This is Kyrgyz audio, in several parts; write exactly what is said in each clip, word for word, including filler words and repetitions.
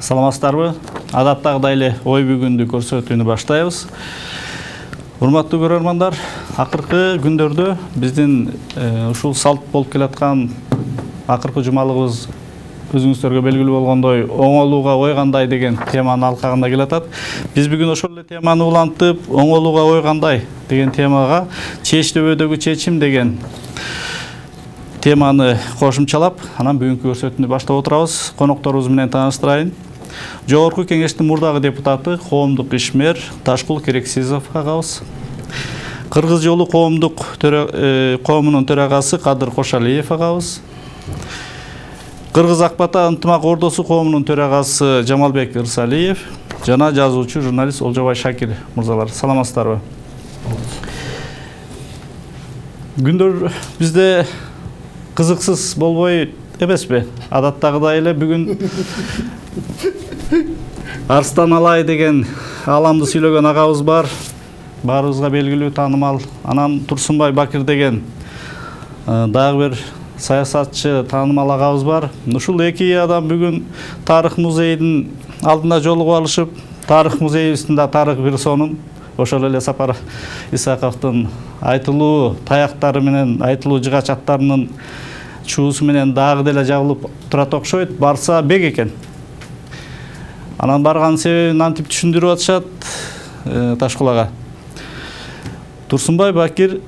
Саламатсыздарбы? Адаттагыдай эле ой бүгүндү көрсөтүүнү баштайбыз. Урматтуу көрөрмандар, акыркы күндөрдө биздин ушул салт болуп келаткан акыркы жумалыгыбыз өзүңүздөргө белгилүү болгондой оңолууга ой кандай деген теманын алкагында келатат. Биз бүгүн ошол эле теманы улантып, оңолууга ой кандай деген темага чечтөбөдөгү чечим деген теманы кошумчалап, анан бүгүнкү көрсөтүүнү баштап отурабыз. Конокторубуз менен тааныштырайын. Жогорку кеңештин мурдагы депутаты, коомдук ишмер Ташкул Керексизов агабыз. Кыргыз жолу коомдук коомунун төрагасы Кадыр Кошалиев агабыз. Кыргыз Акбата ынтымак ордосу коомунун төрагасы Жамалбек Ырсалиев жана жазуучу журналист Олжобай Шакир мырзалар. Саламатсыздарбы? Күндөр бизде кызыксыз болбой эмеспи? Адаттагыдай эле бүгүн Арстан Алай деген аламды сүйлөгөн агабыз бар. Баарыбызга белгилүү, таанымал. Анан Турсунбай Бакир деген дагы бир саясатчы, таанымал агабыз бар. Ушул эки адам бүгүн Тарых музейинин алдына жолугуп алышып, Тарых музейибиздин да тарых бир сонун ошол эле Сапар Исаковдун айтылуу таяктары менен, айтылуу жыгач аттарынын чуусу менен дагы деле жабылып турат окшойт. Барса бек экен. Анан барган себебин антип түшүндүрүп атышат Ташкул ага. Турсунбай Бакир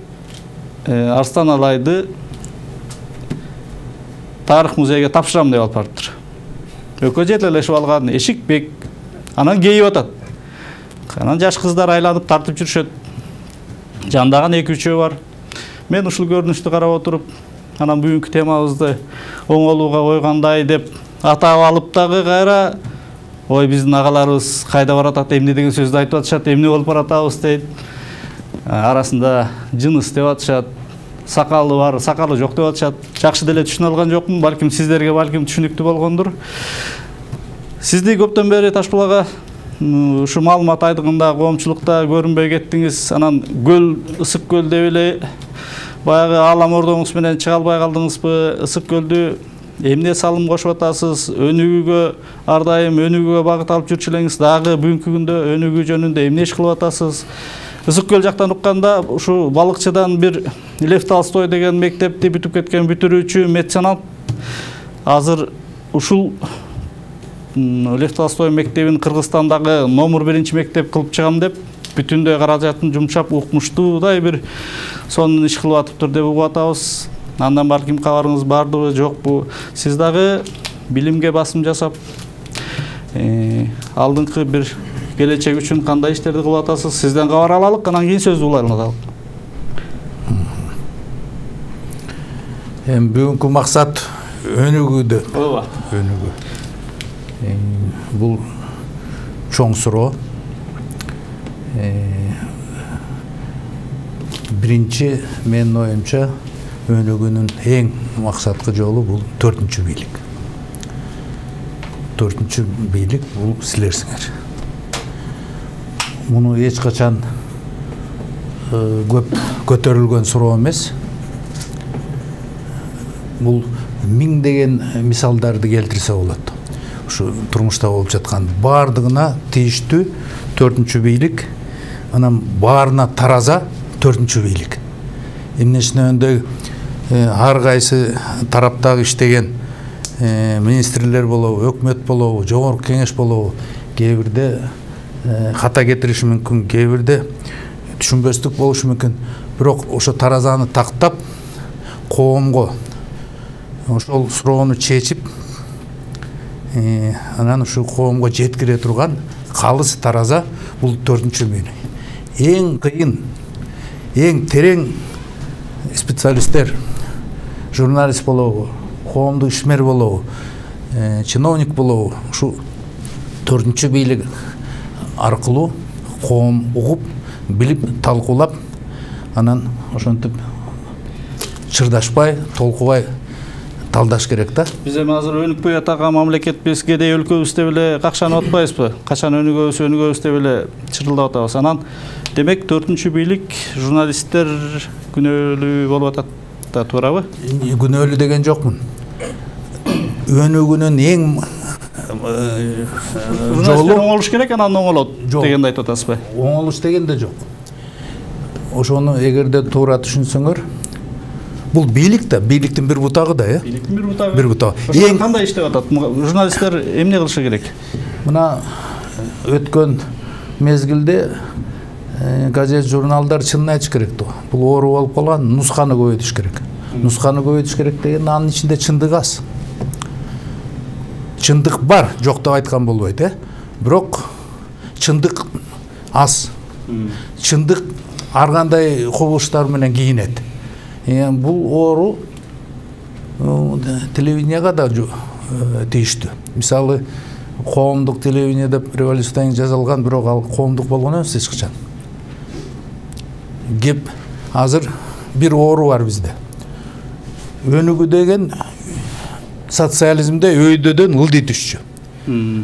Арстан Алайды Тарых музейге тапшырам деп алып барыптыр. Экөө жетелешип алган эшик бек. Анан кейип атат. Анан жаш кыздар айланып тартып жүрүшөт. Жандаган эки үчөө бар. Мен ушул көрүнүштү карап отуруп, анан бүгүнкү темабызды оңолууга ой кандай деп атап алып дагы кайра ой биздин агаларыбыз кайда баратат, эмне деген сөздү айтып атышат, эмне болуп баратабыз дейт. Арасында жыныс деп атышат, сакалы бар, сакалы жок деп атышат. Жакшы деле түшүнө алган жокмун, балким сиздерге балким түшүнүктүү болгондур. Сизди көптөн бери Ташкул ага ушу маалымат айдыгында, коомчулукта көрүнбөй кеттиңиз. Анан көл, ысык көл деп эле баягы алам ордоңуз менен чыга албай калдыңызбы? Ысык көлдү эмне салым кошуп атасыз? Өнүгүүгө ар дайым өнүгүүгө багыт алып жүрчү элеңиз. Дагы бүгүнкү күндө өнүгүү жөнүндө эмне иш кылып атасыз? Ысык көл жактан укканда ушу балыкчыдан бир Лев Толстой деген мектепти бүтүп кеткен бүтүрүүчү меценат азыр ушул Лев Толстой мектебин Кыргызстандагы номер биринчи мектеп кылып чыгам деп бүтүндөй каражатын жумшап укмуштуудай бир сонун иш кылып атыптыр деп угуп атабыз. Андан балким кабарыңыз бардыбы, жокпу? Сиз дагы билимге басым жасап, алдыңкы бир келечек үчүн кандай иштерди кылып атасыз? Сизден кабар алалык, анан кийин сөздү улайланалы. Эми бүгүнкү максат өнүгүүдө. Ооба. Өнүгүү. Бул чоң суроо. Биринчи менин оюмча өнүгүүнүн эң максаткы жолу бул төртүнчү бийлик. Төртүнчү бийлик бул силерсиңер. Муну эч качан көп көтөрүлгөн суроо эмес. Бул миңдеген мисалдарды келтирсе болот. Ушу турмушта болуп жаткан бардыгына тийиштүү төртүнчү бийлик, анан баарына тараза төртүнчү бийлик. Эмнесинен ар кайсы тараптагы иштеген министрлер болобу, өкмөт болобу, жогорку кеңеш болобу, кээ бирде хата кетириши мүмкүн, кээ бирде түшүнбөстүк болушу мүмкүн. Бирок ошо таразаны тактап коомго ошол суроону чечип, анан ушу коомго жеткире турган калыс тараза бул төртүнчү бийлик. Эң кыйын, эң терең специалисттер, журналист болобу, коомдук ишмер болобу, чиновник болобу, ушу төртүнчү бийлик аркылуу коом угуп, билип, талкуулап, анан ошентип чырдашпай, толкубай талдаш керек да. Биз эми азыр өнүкпөй атаган мамлекетпиз, кедей өлкөбүз деп эле какшанып атпайбызбы? Качан өнүгөбүз, өнүгөбүз деп эле чырылдап атабыз. Анан демек төртүнчү бийлик журналисттер күнөөлүү болуп атат да, туурабы? Күнөөлүү деген жокмун. Өнүгүүнүн эң жолу оңолуш керек, анан оңолот дегенди айтып атасызбы? Оңолуш дегенде жок. Ошону эгерде туура түшүнсөңөр, бул бийлик да, бийликтин бир бутагы да, э? Бийликтин бир бутагы. Бир бутагы. Эң кандай иштеп атат? Журналисттер эмне кылышы керек? Мына өткөн мезгилде газет, журналдар чынын айтыш керек да. Бул оору болуп калган, нусканы көбөйтүш керек. Нусканы көбөйтүш керек деген анын ичинде чындык аз. Чындык бар, жок деп айткан болбойт, э? Бирок чындык аз. Чындык ар кандай кубулуштар менен кийинет. Бул оору телевиденияга да тийиштүү. Мисалы, коомдук телевидение деп революциядан жазылган, бирок ал коомдук болгон эмес эч качан. Кеп азыр бир оору бар бизде. Өнүгүү деген социализмде өйдөдөн ылдый түшчү.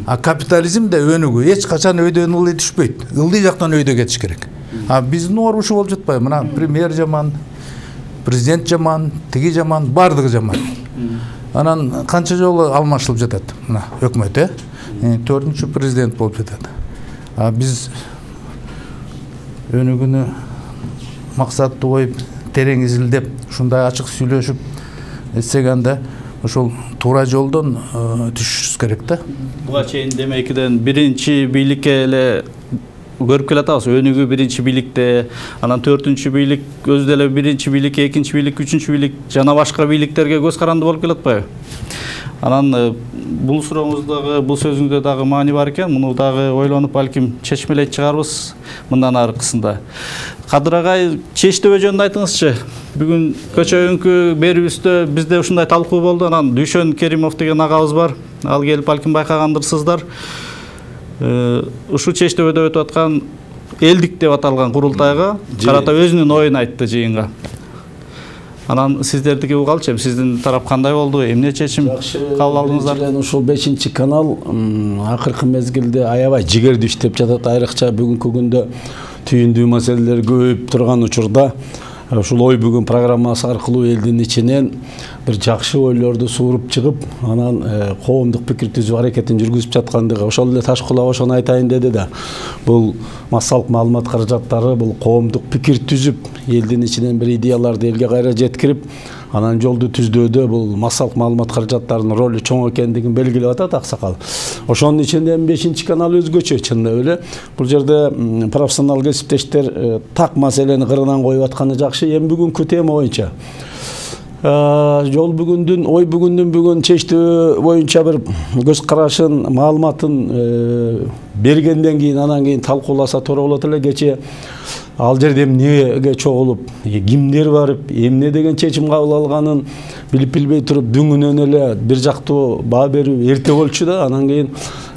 А капитализмде өнүгүү эч качан өйдөдөн ылдый түшпөйт. Ылдый жактан өйдө кетиш керек. А биздин оору ушул болуп жатпайбы? Мына премьер жаман, президент жаман, тиги жаман, бардыгы жаман. Анан канча жолу алмашылып жатат мына өкмөт, э? Төртүнчү президент болуп жатат. А биз өнүгүүнү максаттуу коюп, терең изилдеп, ушундай ачык сүйлөшүп этсек анда ошол туура жолдон түшүшүбүз керек да. Буга чейин демекиден биринчи бийликке эле көрүп келатабыз. Өнүгүү биринчи бийликте, анан төртүнчү бийлик өзү деле биринчи бийлик, экинчи бийлик, үчүнчү бийлик жана башка бийликтерге көз каранды болуп келатпайбы? Анан бул сурооңуздагы, бул сөзүңүздө дагы маани бар экен. Муну дагы ойлонуп балким чечмелейт чыгарбыз мындан аркысында. Кадыр агай, чечтөө жөнүндө айтыңызчы. Бүгүн көчө өңкү берүүбүздө бизде ушундай талкуу болду. Анан Дүйшөн Керимов деген агабыз бар. Ал келип балким байкагандырсыздар. Ушул чечтөөдө өтүп аткан элдик деп аталган курултайга карата өзүнүн оюн айтты жыйынга. Анан сиздердики угалчы, сиздин тарап кандай болду? Эмне чечим кабыл алдыңыздар? Ушул бешинчи канал акыркы мезгилде аябай жигердүү иштеп жатат. Айрыкча бүгүнкү күндө түйүндүү маселелер көбөйүп турган учурда ушул ой бүгүн программасы аркылуу элдин ичинен бир жакшы ойлорду сууруп чыгып, анан коомдук пикир түзүү аракетин жүргүзүп жаткандыгы, ошол эле Ташкулов ошону айтайын деди да. Бул массалык маалымат каражаттары бул коомдук пикир түзүп, элдин ичинен бир идеяларды элге кайра жеткирип, анан жолду түздөөдө бул массалык маалымат каражаттарынын ролу чоң экендигин белгилеп атат аксакал. Ошонун ичинде бешинчи канал өзгөчө, чындап эле. Бул жерде профессионал кесиптештер так маселени кырынан коюп атканы жакшы. Эми бүгүнкү тема боюнча жол бүгүндүн, ой бүгүндүн бүгүн чечтөө боюнча бир көз карашын, маалыматын бергенден кийин анан кийин талкууласа туура болот эле. Кечээ ал жерде эмнеге чогулуп, кимдер барып, эмне деген чечим кабыл алганын билип билбей туруп дүңүнөн эле бир жактуу баа берүү эрте болчу да. Анан кийин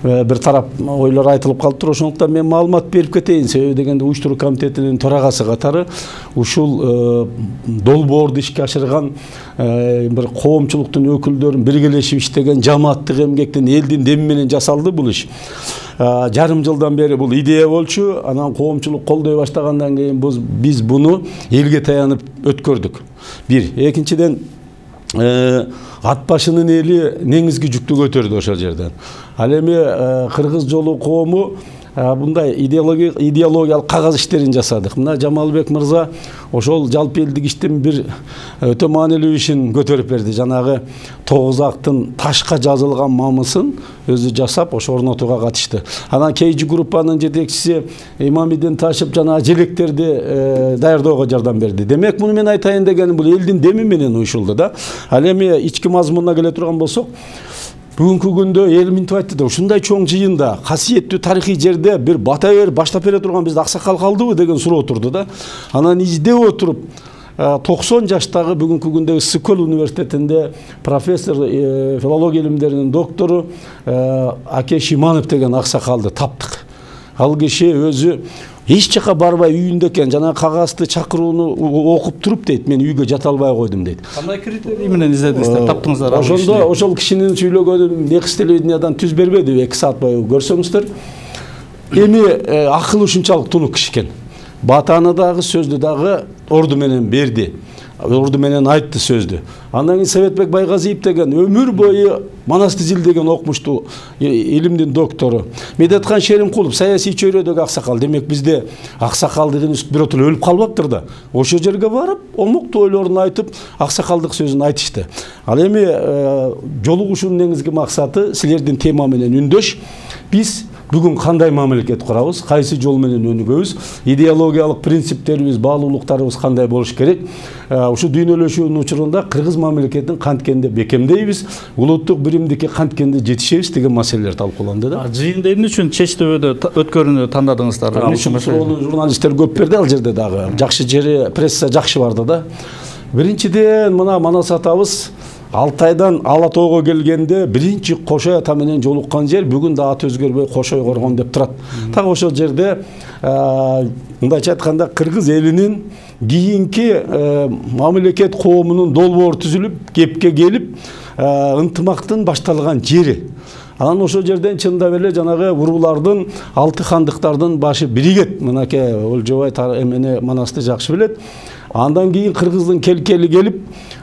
бир тарап ойлор айтылып калыптыр. Ошондуктан мен маалымат берип кетейин. Себеби дегенде уюштуруу комитетинин төрагасы катары ушул долбоорду ишке ашырган бир коомчулуктун өкүлдөрүн биргелешип иштеген жамааттык эмгектин, элдин деми менен жасалды бул иш. Жарым жылдан бери бул идея болчу. Анан коомчулук колдой баштагандан кийин биз буну элге таянып өткөрдүк. Бир, экинчиден ат башынын эли негизги жүктү көтөрдү ошол жерден. Ал эми кыргыз жолу коому мындай идеологиялык кагаз иштерин жасадык. Мына Жамалбек мырза ошол жалпы элдик иштин бир өтө маанилүү ишин көтөрүп берди. Жанагы тогуз актын ташка жазылган мамысын өзү жасап, ошо орнотууга катышты. Анан кейжи группанын жетекчиси Имамидин Ташып жана желектерди даярдоого жардам берди. Демек, муну мен айтайын дегеним бул элдин деми менен уюшулду да. Ал эми ички мазмунуна келе турган болсок, бүгүнкү күндө эл минтип айтты да, ушундай чоң жыйында, касиеттүү тарыхый жерде бир бата берип баштап бере турган бизде аксакал калдыбы деген суроо турду да. Анан издеп отуруп токсон жаштагы бүгүнкү күндө Ысык-Көл университетинде профессор, филология илимдеринин доктору Аке Шиманов деген аксакалды таптык. Ал киши өзү эч жака барбай үйүндө экен, жана кагазды чакырууну окуп туруп дейт, мен үйгө жата албай койдум дейт. Кандай критерий менен издедиңиздер, таптыңыздар? Ошондо ошол кишинин сүйлөгөнүн Некс телевидениядан түз бербеди, эки саат бою көрсөңүздөр. Эми акылы ушунчалык тунук киши экен. Батаны дагы, сөздү дагы орду менен берди. Орду менен айтты сөздү. Андан кийин Советбек Байгазиев деген өмүр бою Манасты изилдеген окумуштуу илимдин доктору. Медетхан Шеримкулов саясий чөйрөдөгү аксакал. Демек бизде аксакал деген биротур өлүп калбаптыр да. Ошол жерге барып, олмоктуу ойлорун айтып, аксакалдык сөзүн айтышты. Ал эми жолугушуунун негизги максаты силердин тема менен үндөш. Биз бүгүн кандай мамлекет курабыз, кайсы жол менен өнүгөбүз, идеологиялык принциптерибиз, баалуулуктарыбыз кандай болуш керек. Ушу дүйнөлөшүүнүн учурунда кыргыз мамлекетин канткенде бекемдейбиз, улуттук биримдикке канткенде жетишебиз деген маселелер талкууланды да. Жыйынды эмне үчүн чечтөбөдө өткөрүүнү тандадыңыздар? Эмне үчүн ошону журналисттер көп берди ал жерде дагы. Жакшы жери, пресса жакшы барды да. Биринчиден мына Манас атабыз Алтайдан Ала тоого келгенде биринчи Кошой ата менен жолуккан жер бүгүн да аты өзгөрбөй Кошой коргон деп турат. Так ошол жерде мындайча айтканда кыргыз элинин кийинки мамлекет коомунун долбоору түзүлүп, кепке келип, ынтымактын башталган жери. Анан ошол жерден чындап эле жанагы уруулардын, алты хандыктардын башы биригет. Мынакей Олжобай эмени Манасты жакшы билет. Андан кийин кыргыздын келкели келип,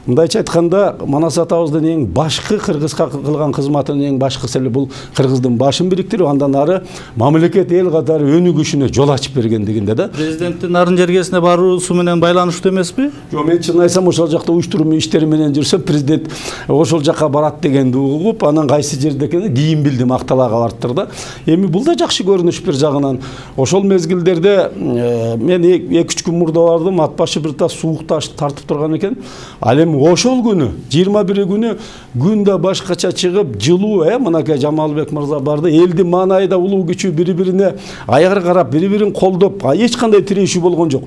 мындайча айтканда Манас атабыздын эң башкы кыргызга кылган кызматынын эң башкысы эле бул кыргыздын башын бириктирип, андан ары мамлекет эл катары өнүгүшүнө жол ачып бергендигинде да. Президенттин нарын жергесине баруусу менен байланыштуу эмеспи? Жок, мен чын айтсам ошол жакта уюштуруу иштери менен жүрсөм, президент ошол жака барат дегенди угуп, анан кайсы жерде экенин кийин билдим, Акталага бардыр да. Эми бул да жакшы көрүнүш бир жагынан. Ошол мезгилдерде мен эки үч күн мурда бардым, ат башы бир тас суук таш тартып турган экен. Ал эми ошол күнү жыйырма бир күнү күн да башкача чыгып, жылуу, э, мынакей Жамалбек мырза барды. Элдин маанайда улуу күчү бири-бирине аяр карап, бири-бирин колдоп, эч кандай тирешүү болгон жок.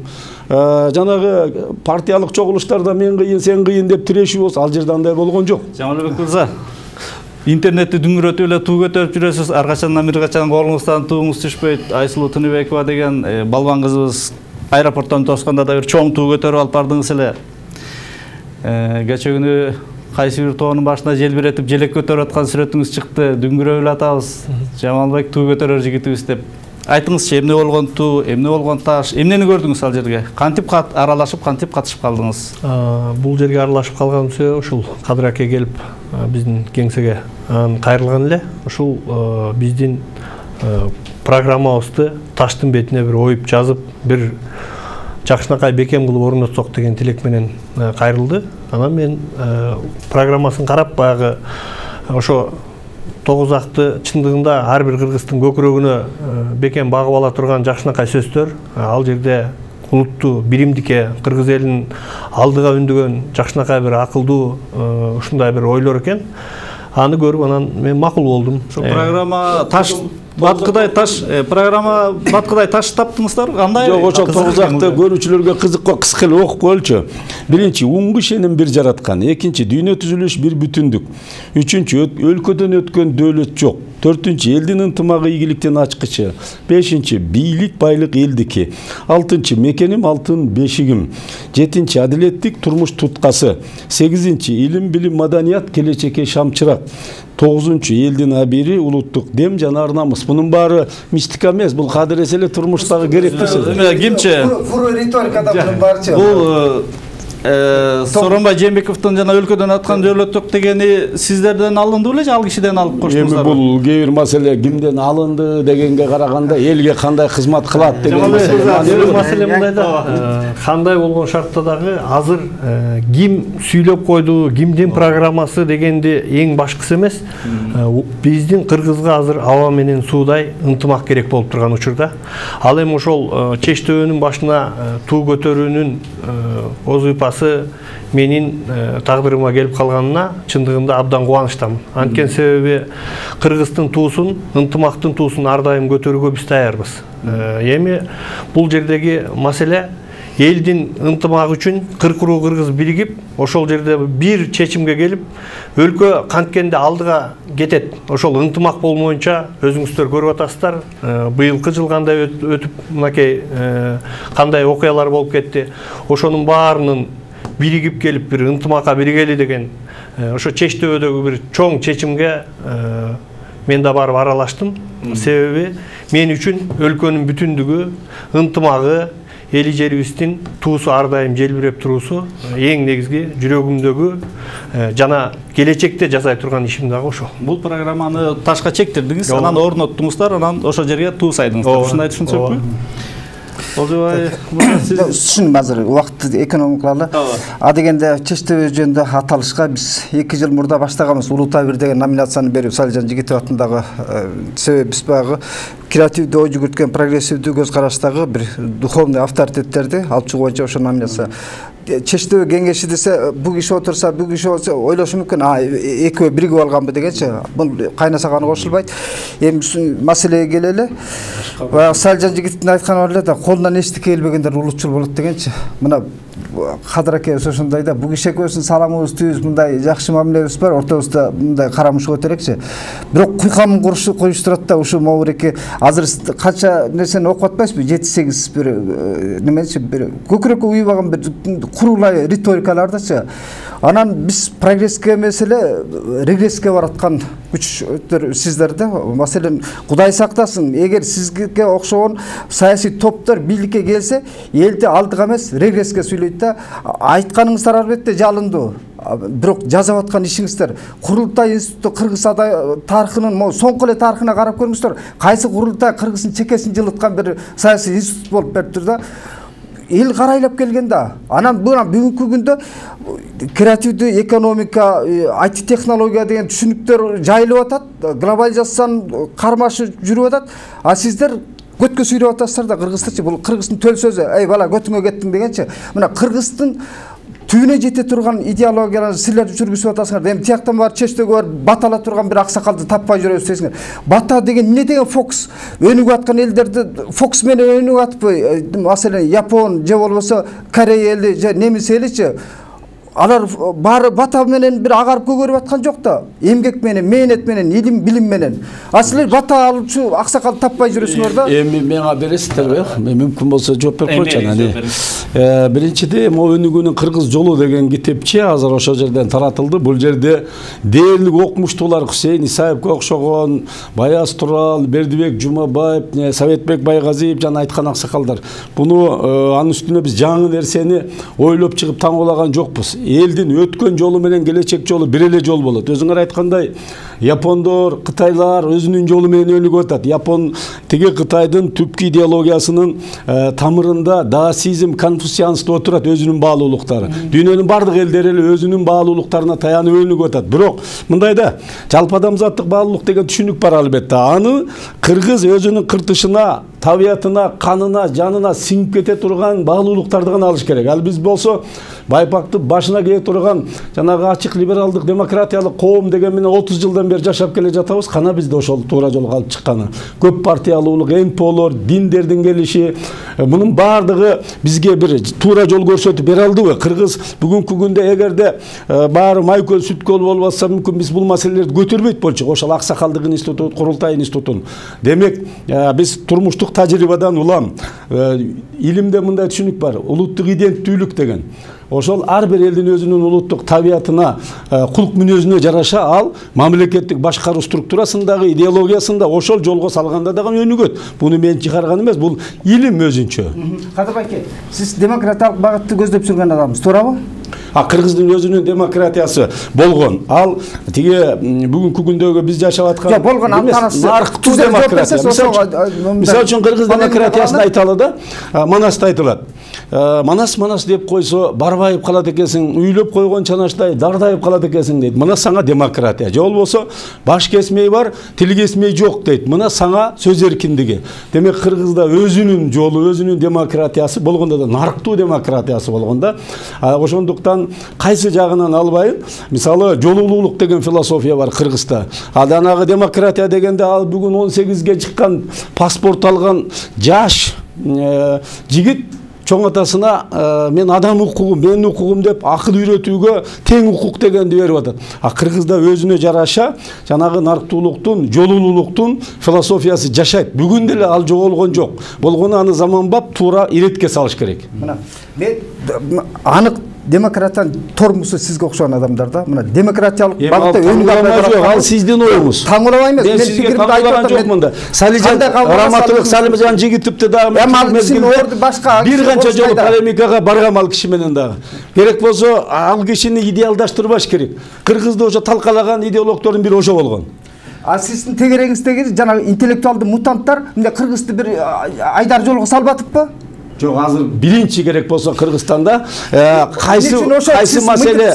Жанагы партиялык чогулуштарда мен кыйын, сен кыйын деп тирешүү болсо, ал жерде андай болгон жок. Жамалбек мырза, интернетти дүңгүрөтүп эле туу көтөрүп жүрөсүз, ар качандан бир качан колуңуздан тууңуз түшпөйт. Айсулуу Тыныбекова деген балбан кызыбыз аэропорттон тоскондо да бир чоң туу көтөрүп алып бардыңыз эле. Кече күнү кайсы бир тоонун башына желбиретип желек көтөрүп аткан сүрөтүңүз чыкты. Дүңгүрөп эле атабыз. Жамалбек туу көтөрөр жигитибиз деп. Айтыңызчы, эмне болгон туу, эмне болгон таш, эмнени көрдүңүз ал жерге? Кантип аралашып, кантип катышып калдыңыз? Бул жерге аралашып калганым себеби ушул Кадыр аке келип биздин кеңсеге кайрылган эле. Ушул биздин программабызды таштын бетине бир оюп жазып, бир жакшынакай бекем кылып орнотсок деген тилек менен кайрылды. Анан мен программасын карап, баягы ошо тогуз акты чындыгында ар бир кыргыздын көкүрөгүнө бекем багып ала турган жакшынакай сөздөр, ал жерде улуттуу биримдикке, кыргыз элинин алдыга үндөгөн жакшынакай бир акылдуу ушундай бир ойлор экен. Аны көрүп, анан мен макул болдум. Ошо программа таш баткыдай таш программа баткыдай таш таптыңыздар, кандай? Жок, ошол тогуз акты көрүүчүлөргө кызыкка кыска эле окуп коелучу. Биринчи, уңгу ишеним бир жараткан. Экинчи, дүйнө түзүлүш бир бүтүндүк. Үчүнчү, өлкөдөн өткөн дөөлөт жок. Төртүнчү, элдин ынтымагы ийгиликтен ачкычы. Бешинчи, бийлик байлык элдики. Алтынчы, мекеним алтын бешигим. Жетинчи, адилеттик турмуш туткасы. Сегизинчи, илим, билим, маданият келечекке шамчырак. Тогузунчу, элдин абири, улуттук дем жана ар намыс. Бунун баары мистика эмес, бул кадырес эле турмуштагы керектүү сөз. Кимчи? Фур риторикада бунун баарчы. Бул Сооронбай Жээнбековдун жана өлкөдөн аткан дөөлөт жок дегени сиздерден алынды беле же ал кишиден алып коштуңуздар? Эми бул кээ бир маселе кимден алынды дегенге караганда элге кандай кызмат кылат деген маселе мындай да. Кандай болгон шартта дагы азыр ким сүйлөп койду, кимдин программасы дегенди эң башкысы эмес. Биздин кыргызга азыр аба менен суудай ынтымак керек болуп турган учурда. Ал эми ошол чечтөөнүн башына туу көтөрүүнүн озуйпасы менин тагдырыма келип калганына чындыгында абдан кубанычтамын. Анткени себеби кыргыздын туусун, ынтымактын туусун ар дайым көтөрүүгө биз даярбыз. Эми бул жердеги маселе элдин ынтымагы үчүн кырк уруу кыргыз биригип, ошол жерде бир чечимге келип, өлкө канткенде алдыга кетет. Ошол ынтымак болмоюнча өзүңүздөр көрүп атасыздар. Быйылкы жыл кандай өтүп, мынакей кандай окуялар болуп кетти. Ошонун баарынын биригип келип бир ынтымакка биригели деген ошо чечтөбөдөгү бир чоң чечимге мен да барып аралаштым. Себеби мен үчүн өлкөнүн бүтүндүгү, ынтымагы, эли жерибиздин туусу ар дайым желбиреп туруусу эң негизги жүрөгүмдөгү жана келечекте жасай турган ишим дагы ошол. Бул программаны ташка чектирдиңиз, анан орноттуңуздар, анан ошол жерге туу сайдыңыздар. Ушундай түшүнсөкпү? Олжобай, түшүнүм азыр убакыт экономикалуу. А дегенде Чечтебе жөнүндө аталышка биз эки жыл мурда баштаганбыз. Улутай бир деген номинацияны берип, Салижан Жигитов атындагы себеби биз баягы креативдүү ой жүгүрткөн, прогрессивдүү көз караштагы бир духовный авторитеттерди алып чыгуу боюнча ошо номинация. Чечтебе кеңеши десе, бул киши отурса, бул киши отурса ойлошу мүмкүн, а экөө биригип алганбы дегенчи. Бул кайнасаганы кошулбайт. Эми маселеге келели. Баягы Салижан Жигитовдун айтканы бар эле да, колунан эчтеке келбегендер улутчул болот дегенчи. Мына Кадыр аке ошондой да, бул киши экөөбүздүн саламыбыз түз, мындай жакшы мамилебиз бар, ортобузда мындай карамыш болот элекчи. Бирок куйкамын курушу коюштурат да, ушу могуреке азыр канча нерсени окуп атпайсызбы? жети сегиз бир немечи бир көкүрөккө уйбаган бир курулай риторикалардычы. Анан биз прогресске эмес эле регресске бараткан күчтөр сиздерде. Маселен, Кудай сактасын, эгер сизге окшогон саясий топтор бийликке келсе, элди алдыга эмес регресске сүйлөйт да. Айтканыңыздар албетте жалындуу. Бирок жасап аткан ишиңиздер, Курултай институту Кыргыз тарыхынын могу соңку эле тарыхына карап көрүңүздөр. Кайсы Курултай Кыргыздын чекесин жылыткан бир саясий институт болуп бериптир да. Эл карайлап келген да. Анан бүгүнкү күндө креативдүү экономика, ай ти технология деген түшүнүктөр жайылып атат, глобализациянын кармашы жүрүп атат. А сиздер көткө сүйрөп атасыздар да кыргызча. Бул кыргыздын төл сөзү. Эй бала, көтүңө кеттиң дегенчи. Мына кыргыздын түбүнө жете турган идеологияларды силер жүргүзүп атасыңар. Эми тияктан бар Чечтөгө барып батала турган бир аксакалды таппай жүрөбүз десиңер. Бата деген эмне деген фокус? Өнүгүп аткан элдерди фокус менен өнүгүп атпы? Маселен, Япон же болбосо Корея эли же немис эличи. Алар баары бата менен бир агарып көгөрүп аткан жок да. Эмгек менен, мээнет менен, илим, билим менен. А силер бата алчу аксакал таппай жүрөсүңөр да. Эми мага бересиздерби? Мүмкүн болсо жооп берип койчу анан. Биринчиден, могу өнүгүүнүн кыргыз жолу деген китепче азыр ошол жерден таратылды. Бул жерде дээрлик окумуштуулар Хусейин Исаевке окшогон, Баяз Турал, Бердибек Жумабаев, Советбек Байгазиев жана айткан аксакалдар. Буну анын үстүнө биз жаңы нерсени ойлоп чыгып таңгылаган жокпуз. Элдин өткөн жолу менен келечек жолу бир эле жол болот. Өзүңөр айткандай, Япондор, Кытайлар өзүнүн жолу менен өнүгүп атат. Япон тиги Кытайдын түпкү идеологиясынын тамырында даосизм, конфуцианство отурат, өзүнүн баалуулуктары. Дүйнөнүн бардык элдери эле өзүнүн баалуулуктарына таянып өнүгүп атат. Бирок мындайда жалпы адамзаттык баалуулук деген түшүнүк бар албетте. Аны кыргыз өзүнүн кыртышына, табиятына, канына, жанына сиңип кете турган баалуулуктарды гана алыш керек. Ал биз болсо байпакты башына кие турган жанагы ачык либералдык демократиялык коом деген менен отуз жылдан бери жашап келе жатабыз. Кана бизде ошол туура жолго алып чыкканы. Көп партиялуулук, эн пэ олор, диндердин келиши, мунун баардыгы бизге бир туура жол көрсөтүп бере алдыбы? Кыргыз бүгүнкү күндө эгерде баары май көл, сүт көл болуп атса, мүмкүн биз бул маселелерди көтөрбөйт болчук. Ошол аксакалдык институту, Курултай институтун. Демек, биз турмуштук тажрыйбадан улам, илимде мындай түшүнүк бар, улуттук иденттүүлүк деген. Ошол ар бир элдин өзүнүн улуттук табиятына, кулк мүнөзүнө жараша ал мамлекеттик башкаруу структурасындагы, идеологиясында ошол жолго салганда дагы өнүгөт. Буну мен чыгарган эмес, бул илим өзүнчө. Кадыр аке, сиз демократиялык багытты көздөп жүргөн адамсыз, туурабы? А кыргыздын өзүнүн демократиясы болгон. Ал тиги бүгүнкү күндөгү биз жашап аткан жок болгон анканасы нарктуу демократия. Мисалы үчүн кыргыз демократиясын айталы да, Манаста айтылат. Манас манас деп койсо барбайып калат экенсиң, үйлөп койгон чанаштай дардайып калат экенсиң дейт. Мына саңа демократия. Же болбосо баш кесмей бар, тил кесмей жок дейт. Мына саңа сөз эркиндиги. Демек кыргызда өзүнүн жолу, өзүнүн демократиясы болгондо да нарктуу демократиясы болгондо, ошондуктан кайсы жагынан албайын. Мисалы жолулуулук деген философия бар Кыргызда. Аданагы демократия дегенде ал бүгүн он сегизге чыккан паспорт алган жаш жигит чоң атасына мен адам укугум, менин укугум деп акыл үйрөтүүгө тең укук дегенди берип атат. А Кыргызда өзүнө жараша жанагы нарктуулуктун, жолулуулуктун философиясы жашайт. Бүгүн деле ал жоголгон жок. Болгону аны заманбап туура иретке салыш керек. Мына мен анык демократиянын тормусу сизге окшогон адамдар да мына демократиялык багытта өнүгүү жок, ал сиздин оюңуз. Таңуулабай эмес, мен сизге таңуулаган жокмун да. Салижан Раматылык Салимжан Жигитовду дагы бир канча жолу полемикага баргам ал киши менен дагы. Керек болсо ал кишини идеалдаштырбаш керек. Кыргызды ошо талкалаган идеологдордун бири ошо болгон. А сиздин тегереңиздеги жана интеллектуалдуу мутанттар мындай Кыргызды бир айдар жолго салбатыппы? Жок, азыр биринчи керек болсо Кыргызстанда кайсы кайсы маселе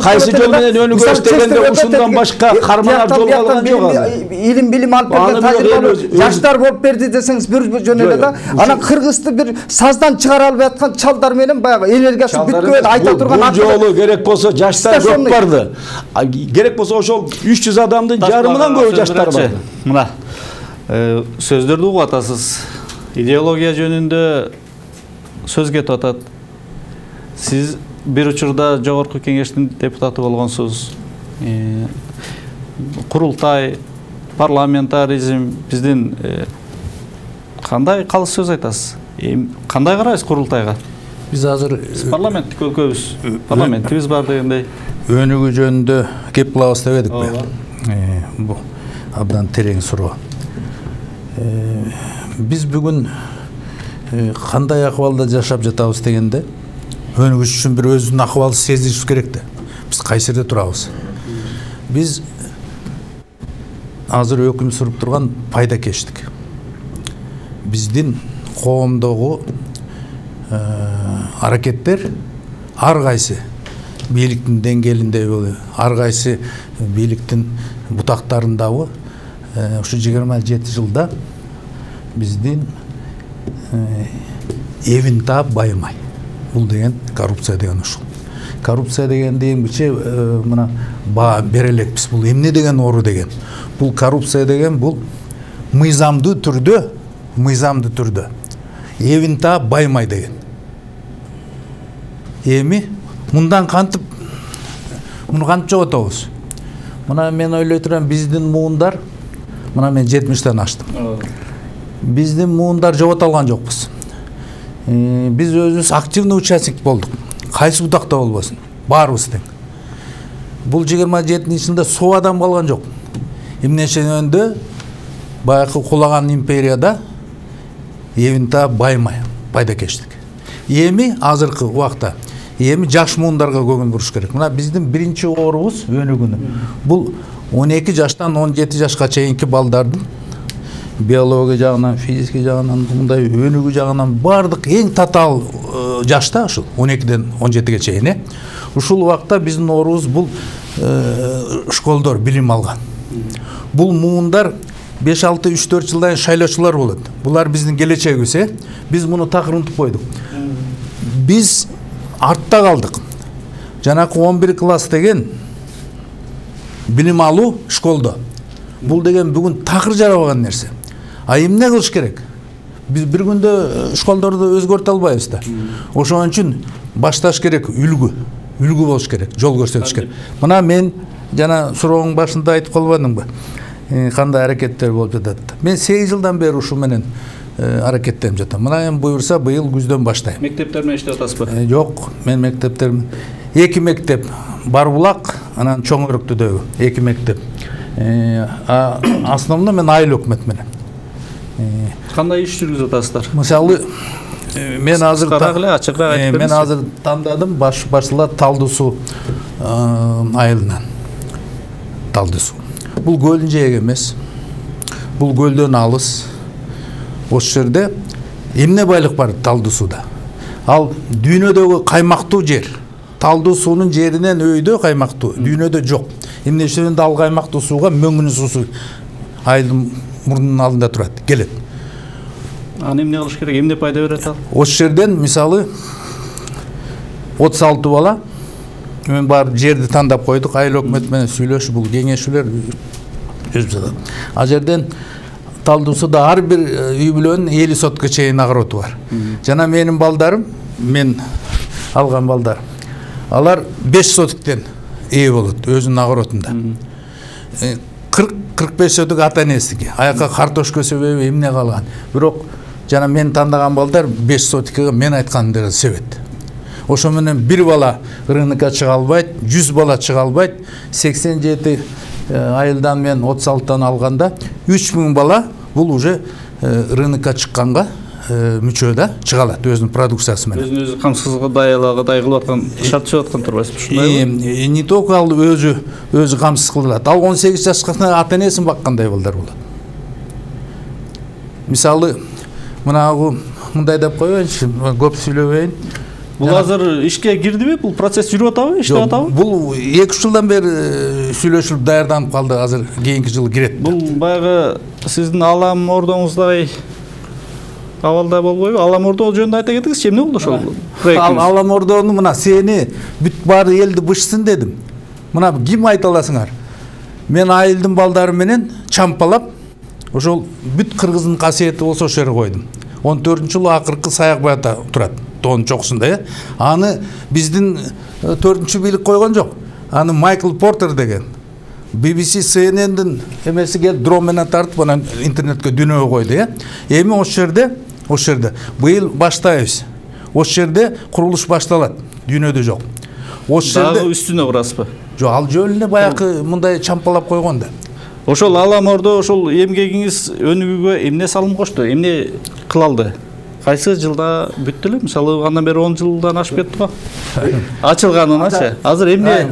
кайсы жол менен өнүгөбүз дегенде ушундан башка карманар жол калган жок азыр. Илим билим алып берген тажрыйбалуу жаштар болуп берди десеңиз бир жөн эле да. Анан Кыргызды бир саздан чыгара албай аткан чалдар менен баягы энергиясы бүткөн айта турган бул жолу керек болсо жаштар көп барды. Керек болсо ошол үч жүз адамдын жарымынан көбү жаштар бар. Мына сөздөрдү угуп атасыз. Идеология жөнүндө сөз кетип атат. Сиз бир учурда жогорку кеңештин депутаты болгонсуз. Курултай, парламентаризм биздин кандай калыс сөз айтасыз? Кандай карайсыз курултайга? Биз азыр парламенттик өлкөбүз, парламентибиз бар дегендей. Өнүгүү жөнүндө кеп кылабыз деп эдикпи? Бул абдан терең суроо. Биз бүгүн кандай акыбалда жашап жатабыз дегенде өнүгүш үчүн бир өзүнүн акыбалды сезишибиз керек да. Биз кайсы жерде турабыз? Биз азыр өкүм сүрүп турган пайдакештик. Биздин коомдогу аракеттер ар кайсы бийликтин деңгээлинде, ар кайсы бийликтин бутактарындагы ушу жыйырма жети жылда биздин эвин таап байымай. Бул деген коррупция деген ушул. Коррупция дегенди эмгиче мына баа бере элекпиз. Бул эмне деген оору деген? Бул коррупция деген бул мыйзамдуу түрдө, мыйзамдуу түрдө эвин таап байымай деген. Эми мындан кантип муну кантип жоготобуз? Мына мен ойлой турам, биздин муундар, мына мен жетимиштен аштым. Биздин муундар жогото алган жокпуз. Биз өзүбүз активный участник болдук. Кайсы бутакта болбосун, баарыбыз тең. Бул жыйырма жетинчи жылда соо адам калган жок. Эмнешенде баягы кулаган империяда эвин таап байымай, пайдакештик. Эми азыркы убакта эми жаш муундарга көңүл буруш керек. Мына биздин биринчи оорубуз өнүгүүнү. Бул он эки жаштан он жети жашка чейинки балдардын биология жагынан, физика жагынан, мындай өнүгүү жагынан бардык эң татаал жашта ушул он экиден он жетиге чейин. Ушул убакта биздин оорубуз бул школдор билим алган. Бул муундар беш алты үч төрт жылдан шайлоочулар болот. Булар биздин келечегибиз, э? Биз муну такыр унутуп койдук. Биз артта калдык. Жанакы он бир класс деген билим алуу школдо. Бул деген бүгүн такыр жарабаган нерсе. А эмне кылыш керек? Биз бир күндө школдорду өзгөртө албайбыз да. Ошон үчүн башташ керек үлгү. Үлгү болуш керек, жол көрсөтүш керек. Мына мен жана сурооңдун башында айтып калбадымбы? Кандай аракеттер болуп жатат. Мен сегиз жылдан бери ушу менен аракеттенип жатам. Мына эми буюрса быйыл күздөн баштайм. Мектептер менен иштеп атасызбы? Жок, мен мектептерим эки мектеп, Барбулак, анан Чоң Өрүктүдөгү эки мектеп. А основно мен айыл өкмөт менен. Кандай иш жүргүзүп атасыздар? Мисалы мен азыр ачыгыраак айтып мен азыр тандадым баш башчылар Талды суу айылынан. Талды суу. Бул көлдүн жээги эмес. Бул көлдөн алыс. Ошол жерде эмне байлык бар Талды сууда? Ал дүйнөдөгү каймактуу жер. Талды суунун жеринен өйдө каймактуу, дүйнөдө жок. Эмне үчүн ал каймактуу сууга мөңгүн суусу айылдын мурдунун алдында турат, келет. Аны эмне кылыш керек? Эмне пайда берет ал? Ошол жерден мисалы отуз алты бала мен бар жерди тандап койдук, айыл өкмөт менен сүйлөшүп, бул кеңешүүлөр өзүп жатат. А жерден Талды сууда ар бир үй бүлөнүн элүү сотка чейин огороду бар. Жана менин балдарым, мен алган балдар. Алар беш сотиктен ээ болот өзүнүн огородунда. кырк кырк беш сотик ата энесиники. Аяка картошка себеби эмне калган. Бирок жана мен тандаган балдар беш сотикке мен айтканымды себет. ошо менен бир бала рынокко чыга албайт, жүз бала чыга албайт. сексен жети айылдан мен отуз алтыдан алганда үч миң бала бул уже рынокко чыкканга мүчө да чыга алат өзүнүн продукциясы менен. Өзүн өзү камсызга даялагыдай кылып аткан, шарт чыгып аткан турбайсызбы, ушундайбы? Не только ал өзү өзү камсыз кылат. Ал он сегиз жашка ата энесин баккандай балдар болот. Мисалы, мынагы мындай деп коеюнчу, көп сүйлөбөйүн. Бул азыр ишке кирдиби? Бул процесс жүрүп атабы, иштеп атабы? Бул эки жылдан бери сүйлөшүлүп даярданып калды, азыр кийинки жылы кирет. Бул баягы сиздин Алам ордоңуздай абалда болбойбу? Алам ордо жөнүндө айта кетиңизчи, эмне болду ошол проектиңиз? Алам ордонун мына сени бүт баары элди бышсын дедим. Мына ким айта аласыңар? Мен айылдын балдары менен чампалап, ошол бүт кыргыздын касиети болсо ошол жерге койдум. он төртүнчү жылы акыркы Саякбайда турат, тоонун чокусунда, э. Аны биздин төртүнчү бийлик койгон жок. Аны Майкл Портер деген би би си си эн эндин эмеси келип дрон менен тартып анан интернетке дүйнөгө койду, э. Эми ошол жерде, ошол жерде быйыл баштайбыз. Ошол жерде курулуш башталат, дүйнөдө жок. Ошол жерде дагы үстүнө курасызбы? Жок, ал жөн эле баягы мындай чампалап койгон да. Ошол Алам ордо ошол эмгегиңиз өнүгүүгө эмне салым кошту? Эмне кыла алды? Кайсы жылда бүттү эле? Мисалы, андан бери он жылдан ашып кетти го. Ачылганыначы. Азыр эмне?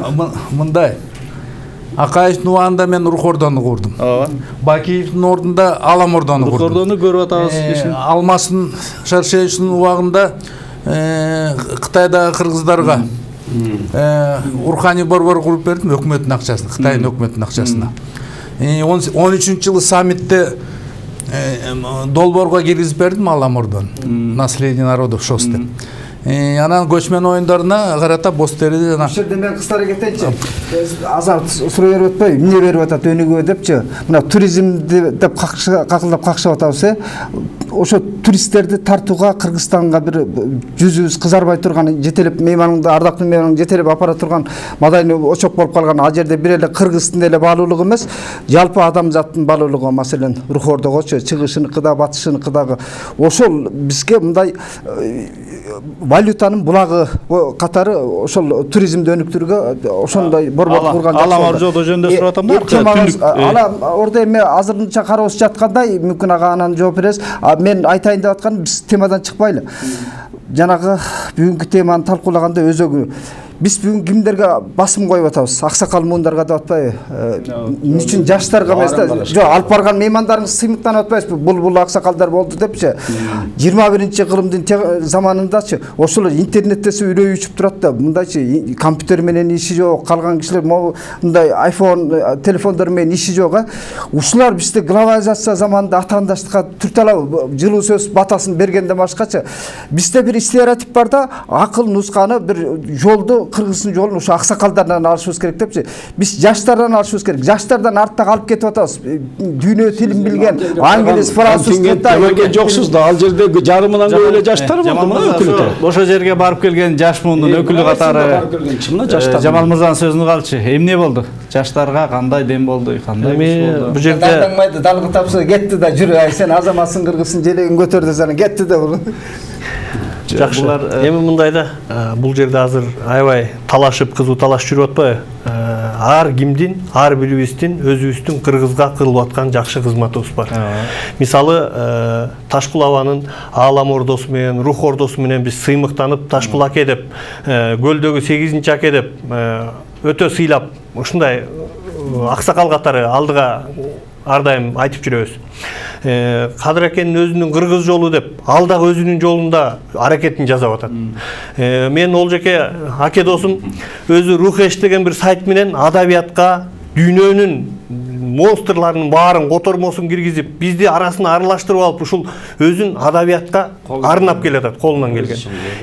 Мындай. Акаевдин убагында мен Рух ордону курдум. Ооба. Бакиевдин ордунда Алам ордону курдум. Рух ордону көрүп атабыз кишин. Алмастын Шаршеевичтин убагында Кытайдагы кыргыздарга руханий борбор куруп бердим, өкмөттүн акчасына, Кытайдын өкмөттүнүн акчасына. он үчүнчү жылы саммитте долбоорго киргизип бердим Алам ордону. Наследие народов шос деп. Анан көчмөн оюндарына карата боз териде жана. Ошол жерде мен кыстара кетейинчи. Азар суроо берип атпайбы, эмне берип атат өнүгүүгө депчи. Мына туризмди деп какылдап какшап атабыз, э. Ошо туристтерди тартууга Кыргызстанга бир жүзүбүз кызарбай турган, жетелеп мейманыңды, ардактуу мейманыңды жетелеп апара турган мадайны очок болуп калган. Ал жерде бир эле кыргыздын эле баалуулугу эмес, жалпы адамзаттын баалуулугу, маселен, Рух ордогочу, чыгышыныкыда, батышыныкыдагы ошол бизге мындай валютанын булагы катары ошол туризмди өнүктүрүүгө ошондой борбор курган жакшы. Алам ордо жөнүндө сурап атам да. Алам ордо эми азырынча кароосуз жаткандай, мүмкүн ага анан жооп бересиз. Мен айтайын деп атканым, биз темадан чыкпайлы. Жанагы бүгүнкү теманы талкуулаганда өзөгү биз бүгүн кимдерге басым коюп атабыз? Аксакал муундарга деп атпайбы? Эмне үчүн жаштарга эмес да? Жок, алып барган меймандарыңыз сыймыктанып атпайсызбы? Бул бул аксакалдар болду депчи. жыйырма биринчи кылымдын заманындачы ошол интернеттесе үрөй учуп турат да. Мындайчы компьютер менен иши жок, калган кишилер мындай айфон телефондор менен иши жок, а. Ушулар бизде глобализация заманында атаандаштыкка түрт алабы? Жылуу сөз батасын бергенден башкачы. Бизде бир стереотип бар да, акыл нусканы бир жолду Кыргыздын жолун ушу аксакалдардан алышыбыз керек депчи. Биз жаштардан алышыбыз керек. Жаштардан артта калып кетип атабыз. Дүйнө тилин билген, англис, француз, кытай жоксуз да. Ал жерде жарымынан көп эле жаштар болду. Ошол жерге барып келген жаш мундун өкүлү катары Жамал мырзанын сөзүн угалчы. Эмне болду? Жаштарга кандай дем болду, кандай эми бул жерде даңмайды, далгы тапса кетти да, жүрү, ай сен азаматсың, кыргызсың, желегин көтөрдү сен, кетти да бул. Жакшы. Эми мындай да, бул жерде азыр аябай талашып, кызуу талаш жүрүп атпайбы? Ар кимдин, ар бирибиздин өзүбүздүн Кыргызга кылып аткан жакшы кызматыбыз бар. Мисалы, Ташкул абанын Алам ордосу менен, Рух ордосу менен биз сыймыктанып, Ташкул аке деп, көлдөгү сегизинчи аке деп өтө сыйлап, ушундай аксакал катары алдыга ар дайым айтып жүрөбүз. Кадыр акенин өзүнүн кыргыз жолу деп, ал дагы өзүнүн жолунда аракетин жасап атат. Мен ол жеке аке досум өзү Рухеш деген бир сайт менен адабиятка дүйнөнүн монстрларынын баарын котормосун киргизип, бизди арасына аралаштырып алып, ушул өзүн адабиятка арнап келатат, колунан келген.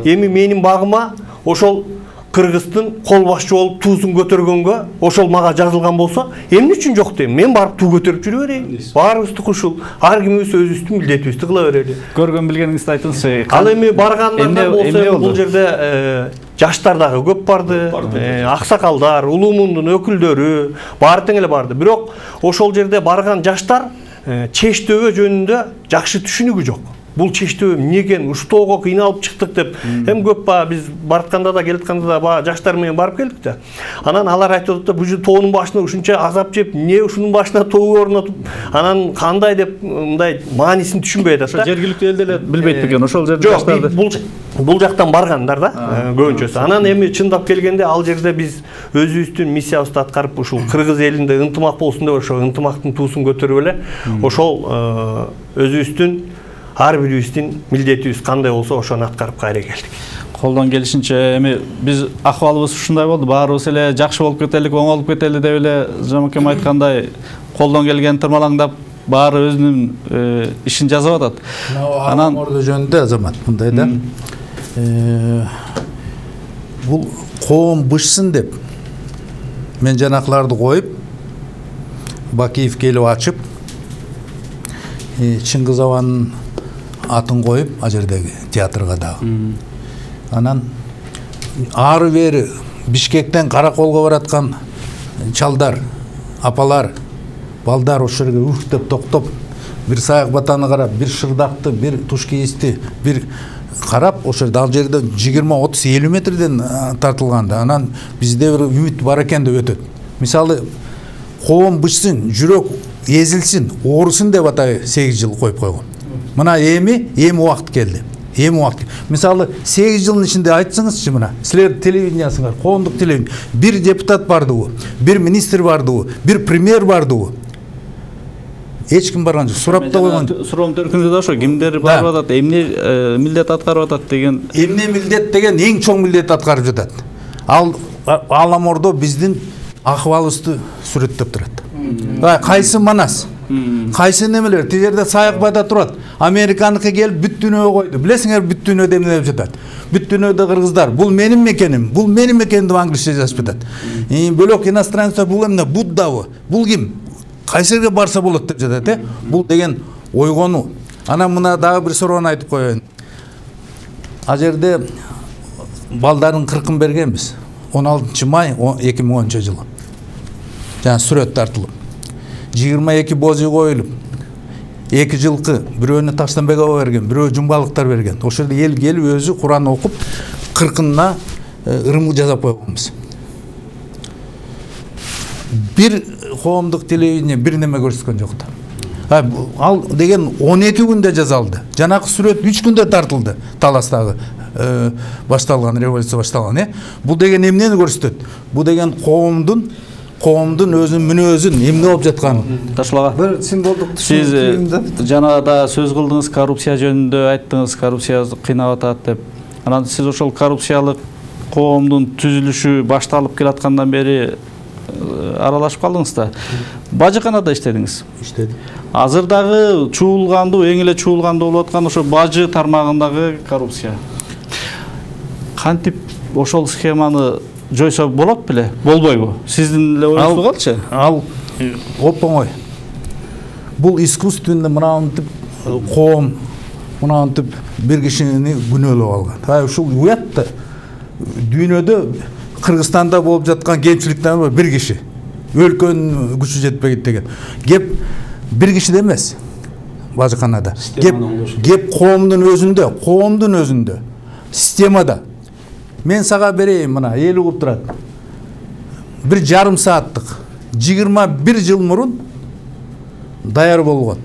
Эми менин багыма ошол Кыргыздын кол башчы болуп туузун көтөргөнгө ошол мага жазылган болсо, эмне үчүн жок дейм? Мен барып туу көтөрүп жүрө берейин. Баарыбыздыкы ушул. Ар кимибиз өзүбүздүн милдетибизди кыла берели. Көргөн билгениңизди айтыңызчы. Ал эми баргандарда болсо, бул жерде жаштар дагы көп барды, аксакалдар, улуу мундун өкүлдөрү баары тең эле барды. Бирок ошол жерде барган жаштар чечтөбө жөнүндө жакшы түшүнүгү жок. бул чечтөө эмне экен, уштоого кыйналып чыктык деп эми көп баягы биз баратканда да келатканда да баягы жаштар менен барып келдик да. Анан алар айтып атат да, бул тоонун башына ушунча азап жеп, эмне ушунун башына тоо орнотуп, анан кандай деп мындай маанисин түшүнбөй атат да. Жергиликтүү эл деле билбейт бекен ошол жерде жаштарды. Бул бул жактан баргандар да көбүнчөсү. Анан эми чындап келгенде ал жерде биз өзүбүздүн миссиябызды аткарып ушул кыргыз элинде ынтымак болсун деп ошо ынтымактын туусун көтөрүп эле ошол өзүбүздүн ар бирибиздин милдетибиз кандай болсо ошону аткарып кайра келдик. Колдон келишинче эми биз акыбалыбыз ушундай болду, баарыбыз эле жакшы болуп кетелик, оңолуп кетели деп эле Жамакем айткандай колдон келген тырмалаңдап баары өзүнүн ишин жасап атат. Анан ордо жөнүндө Азамат мындай да. Бул коом бышсын деп мен жанакыларды коюп Бакиев келип ачып Чыңгыз Абанын атын коюп ал жердеги театрга дагы. Анан ары бери Бишкектен Караколго бараткан чалдар, апалар, балдар ошол жерге үрктөп токтоп, бир саяк батаны карап, бир шырдакты, бир туш кийисти, бир карап, ошол жерде ал жерде жыйырма отуз элүү метрден тартылган да. Анан бизде бир үмүт бар экен деп өтөт. Мисалы коом бышсын, жүрөк эзилсин, оорусын деп атай сегиз жыл коюп койгон. Мына эми эми убакыт келди. Эми убакыт. Мисалы сегиз жылдын ичинде айтсаңызчы, мына силер телевидениясыңар, коомдук телевидение, бир депутат бардыбы, бир министр бардыбы, бир премьер бардыбы? Эч ким барган жок, сурап да койгон. Суроом төркүндө да ошо кимдер барып атат, эмне милдет аткарып атат деген. Эмне милдет деген эң чоң милдет аткарып жатат. Ал Аламордо биздин акыбалыбызды сүрөттөп турат. Кайсы Манас? Кайсы немелер? Тил жерде саяк бата турат. Американыкы келип бүт дүйнөгө койду. Билесиңер бүт дүйнөдө эмне деп жатат? Бүт дүйнөдө кыргыздар, бул менин мекеним, бул менин мекеним деп англисче жазып жатат. Бөлөк иностранецтер бул эмне? Буддабы? Бул ким? Кайсы жерге барса болот деп жатат, э? Бул деген ойгонуу. Анан мына дагы бир суроону айтып коеюн. Ал жерде балдардын кыркын бергенбиз. он алтынчы май эки миң онунчу жылы. Жана сүрөт тартылып. жыйырма эки божу коюлуп. эки жылкы бирөөнү Таштанбек аба берген, бирөө жумбалыктар берген. Ошол жерде эл келип өзү Куран окуп, кыркынына ырымы жасап койгонбуз. Бир коомдук телевидение бир неме көрсөткөн жок да. Ал деген он эки күндө жасалды. Жанакы сүрөт үч күндө тартылды. Таластагы башталган, революция башталган, э? Бул деген эмнени көрсөтөт? Бул деген коомдун коомдун өзүнүн мүнөзүн эмне болуп жатканын. Ташылага. Бир символдук сиз жана да сөз кылдыңыз, коррупция жөнүндө айттыңыз, коррупция кыйнап атат деп. Анан сиз ошол коррупциялык коомдун түзүлүшү башталып келаткандан бери аралашып калдыңыз да. Бажыканада иштедиңиз. Иштедим. Азыр дагы чуулгандуу, эң эле чуулгандуу болуп аткан ошо бажы тармагындагы коррупция. Кантип ошол схеманы жойсо болот беле? Болбойбу? Сиздин эле оюңузду калчы? Ал оп-оңой. Бул искусственный мынантип коом, мынантип бир кишини күнөөлөп алган. Ай ушул уят да. Дүйнөдө Кыргызстанда болуп жаткан кемчиликтен бир киши. Өлкөнүн күчү жетпейт деген. Кеп бир кишиде эмес. Бажыканада. Кеп кеп коомдун өзүндө, коомдун өзүндө. Системада. Мен сага берейин, мына эл угуп турат. Бир жарым сааттык, жыйырма бир жыл мурун даяр болгон.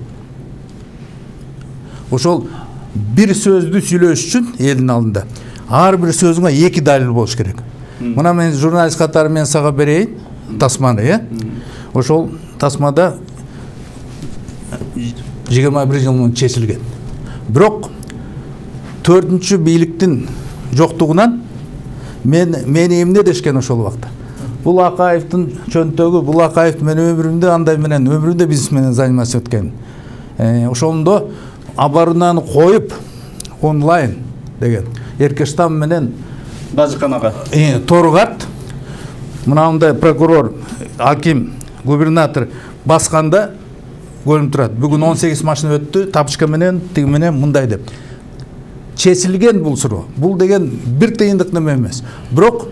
Ошол бир сөздү сүйлөш үчүн элдин алдында ар бир сөзүңө эки далил болуш керек. Мына мен журналист катары мен сага берейин тасманы, э? Ошол тасмада жыйырма бир жыл мурун чечилген. Бирок төртүнчү бийликтин жоктугунан мен мени эмне дешкен ошол убакта. Бул Акаевдин чөнтөгү, бул Акаев мен өмүрүмдө андай менен, өмүрүндө бизнес менен заниматься эткен. Э, ошондо абарунаны коюп онлайн деген Эркештам менен Бажыканага. Э, Торгат мынандай прокурор, аким, губернатор басканда көрүнүп турат. Бүгүн он сегиз машина өттү, тапочка менен, тиги менен мындай деп. Чечилген бул суроо. Бул деген бир тыйындык неме эмес. Бирок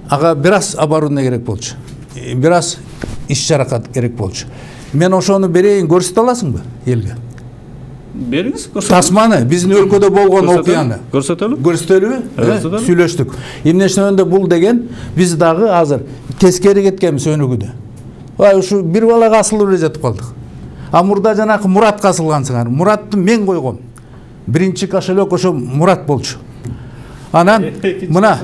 ага бир аз оборудование керек болчу. Бир аз иш чаракат керек болчу. Мен ошону берейин, көрсөтө аласыңбы элге? Бериңиз, көрсөтөлү. Тасманы биздин өлкөдө болгон окуяны. Көрсөтөлү. Көрсөтөлүбү? Сүйлөштүк. Эмне үчүн бул деген биз дагы азыр тескери кеткенбиз өнүгүүдө. Ай ушу бир балага асылып эле жатып калдык. А мурда жанакы Муратка асылгансыңар. Муратты мен койгом. Биринчи кошелек ошо Мурат болчу. Анан мына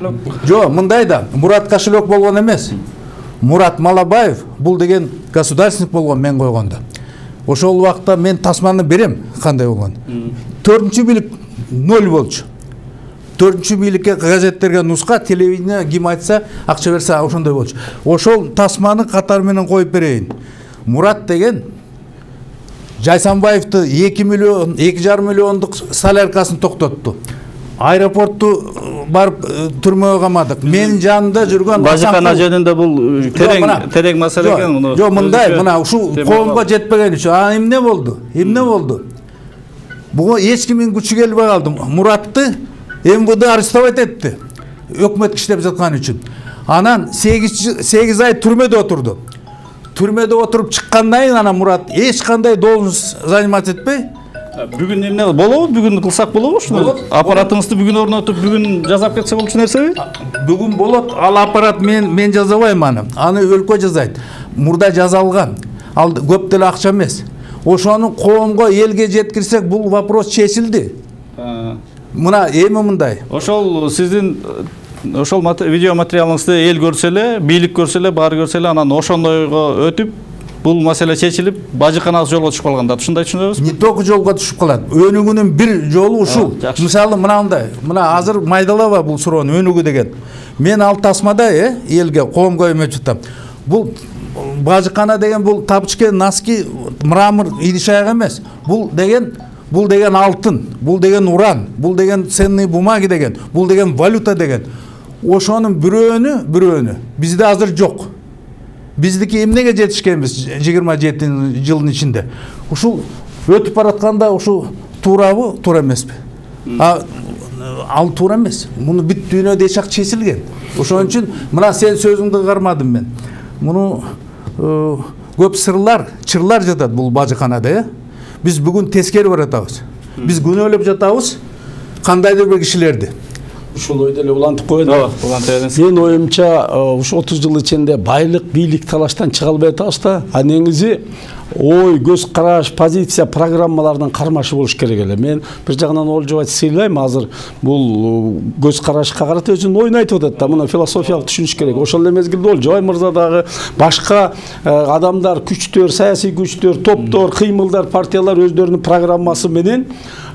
жо мындай да Мурат кошелек болгон эмес. Мурат Малабаев бул деген государственник болгон мен койгондо. Ошол убакта мен тасманы берем кандай болгон. Төртүнчү бийлик ноль болчу. Төртүнчү бийликке газеттерге нуска, телевидение ким айтса, акча берсе ошондой болчу. Ошол тасманы катар менен коюп берейин. Мурат деген Жайсанбаевди эки миллион, эки жарым миллиондук соляркасын токтотту. Аэропортту барып түрмөгө камадык. Менин жанымда жүргөн Бажыкана жөнүндө бул терең терең маселе экен муну. Жок, мындай, мына ушу коомго жетпеген үчүн. А эмне болду? Эмне болду? Буга эч кимдин күчү келбей калды. Муратты эм вэ дэ арестовать этти. Өкмөт иштеп жаткан үчүн. Анан сегиз ай түрмөдө отурду. Түрмөдө отуруп чыккандан кийин анан Мурат эч кандай должность занимать этпей. Бүгүн эмне болобу? Бүгүн кылсак болобу ушуну? Аппаратыңызды бүгүн орнотуп, бүгүн жасап кетсе болчу нерсеби? Бүгүн болот. Ал аппарат мен мен жазабайм аны. Аны өлкө жазайт. Мурда жазалган. Ал көп деле акча эмес. Ошону коомго, элге жеткирсек, бул вопрос чечилди. Мына эми мындай. Ошол сиздин ошол видео материалыңызды эл көрсө эле, бийлик көрсө эле, баары көрсө эле, анан ошондойго өтүп, бул маселе чечилип, Бажыканасы жолго түшүп калганда, ушундай түшүнөбүзбү? Не только жолго түшүп калат. Өнүгүүнүн бир жолу ушул. Мисалы мынандай, мына азыр майдалаба бул суроону өнүгүү деген. Мен ал тасмада э элге, коомго эметип атам. Бул Бажыкана деген бул тапочка, носки, мрамор, идиш аяк эмес. Бул деген бул деген алтын, бул деген уран, бул деген ценные бумаги деген, бул деген валюта деген. Ошонун бирөөнү, бирөөнү бизде азыр жок. Биздики эмнеге жетишкенбиз жыйырма жети жылдын ичинде? Ушул өтүп баратканда ушу туурабы, туура эмеспи? А ал туура эмес. Муну бүт дүйнөдө эч ак чечилген. Ошон үчүн мына сен сөзүңдү кармадым мен. Муну көп сырлар, чырлар жатат бул Бажыканада, э? Биз бүгүн тескери баратабыз. Биз күнөөлөп жатабыз кандайдыр бир кишилерди. Ушул ойду эле улантып коеюн. Менин оюмча, ушу отуз жыл ичинде байлык, бийлик талаштан чыга албай атабыз да. А негизи ой, көз караш, позиция, программалардын кармашы болуш керек эле. Мен бир жагынан Олжобай сыйлайм, азыр бул көз карашка карата өзүнүн оюн айтып атат да. Муну философиялык түшүнүш керек. Ошол эле мезгилде Олжобай мырза дагы башка адамдар, күчтөр, саясий күчтөр, топтор, кыймылдар, партиялар өздөрүнүн программасы менен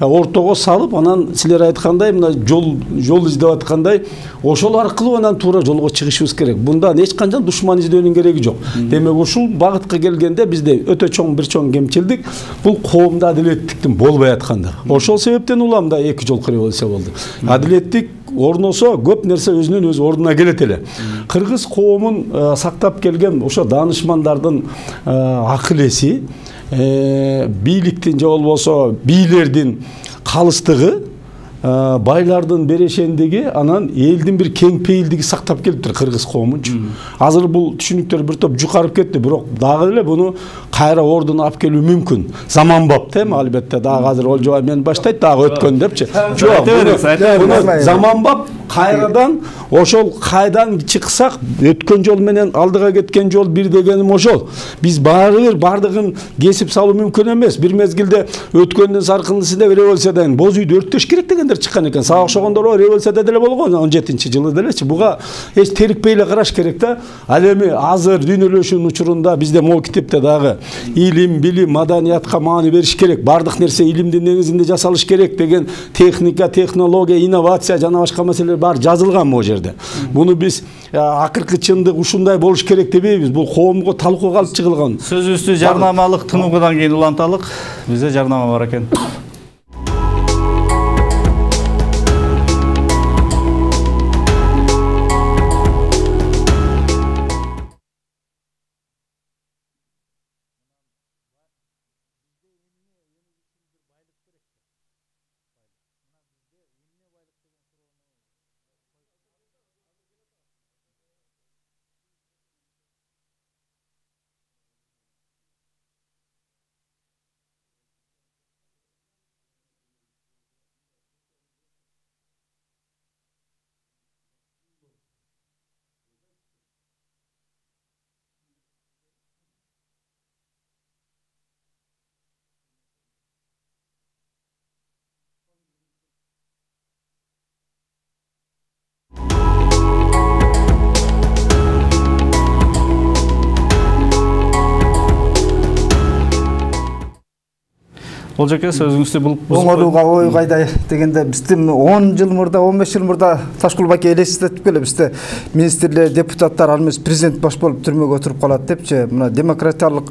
ортого салып, анан силер айткандай мына жол жол издеп аткандай, ошол аркылуу анан туура жолго чыгышыбыз керек. Бундан эч канча душман издөөнүн кереги жок. Демек ушул багытка келгенде бизде өтө чоң бир чоң кемчилдик бул коомдо адилеттиктин болбой аткандыгы. Ошол себептен улам да эки жолку революция болду. Адилеттик орносо көп нерсе өзүнүн өз ордуна келет эле. Кыргыз коомун сактап келген ошо даанышмандардын акыл эси, бийликтин же болбосо бийлердин калыстыгы, байлардын берешендиги, анан элдин бир кең пейилдиги сактап келиптир кыргыз коомунчу. Азыр бул түшүнүктөр бир топ жукарып кетти, бирок дагы эле буну кайра ордуна алып келүү мүмкүн. Заманбап тем, албетте дагы азыр Олжобай мен баштайт, дагы өткөн депчи. Жок, заманбап кайрадан ошол кайдан чыксак, өткөн жол менен алдыга кеткен жол бир дегеним ошол. Биз баары бир бардыгын кесип салуу мүмкүн эмес. Бир мезгилде өткөндүн саркындысында революциядан боз үйдү өрттөш керек дегендер чыккан экен. Сага окшогондор революцияда деле болгон он жетинчи жылы делечи. Буга эч терикпей эле караш керек да. Ал эми азыр дүйнөлөшүүнүн учурунда бизде могу китепте дагы илим, билим, маданиятка маани бериш керек. Бардык нерсе илимдин негизинде жасалыш керек деген техника, технология, инновация жана башка маселелер бар жазылган могу жерде. Буну биз акыркы чындык ушундай болуш керек дебейбиз. Бул коомго талкууга алып чыгылган. Сөзүбүздү жарнамалык тыныгуудан кийин уланталык. Бизде жарнама бар экен. Олжеке сөзүңүздү бул оңолууга ой кайда дегенде биздин он жыл мурда он беш жыл мурда Ташкул Баке элестетип келе бизде министрлер депутаттар ал эмес президент баш болуп түрмөгө отуруп калат депчи мына демократиялык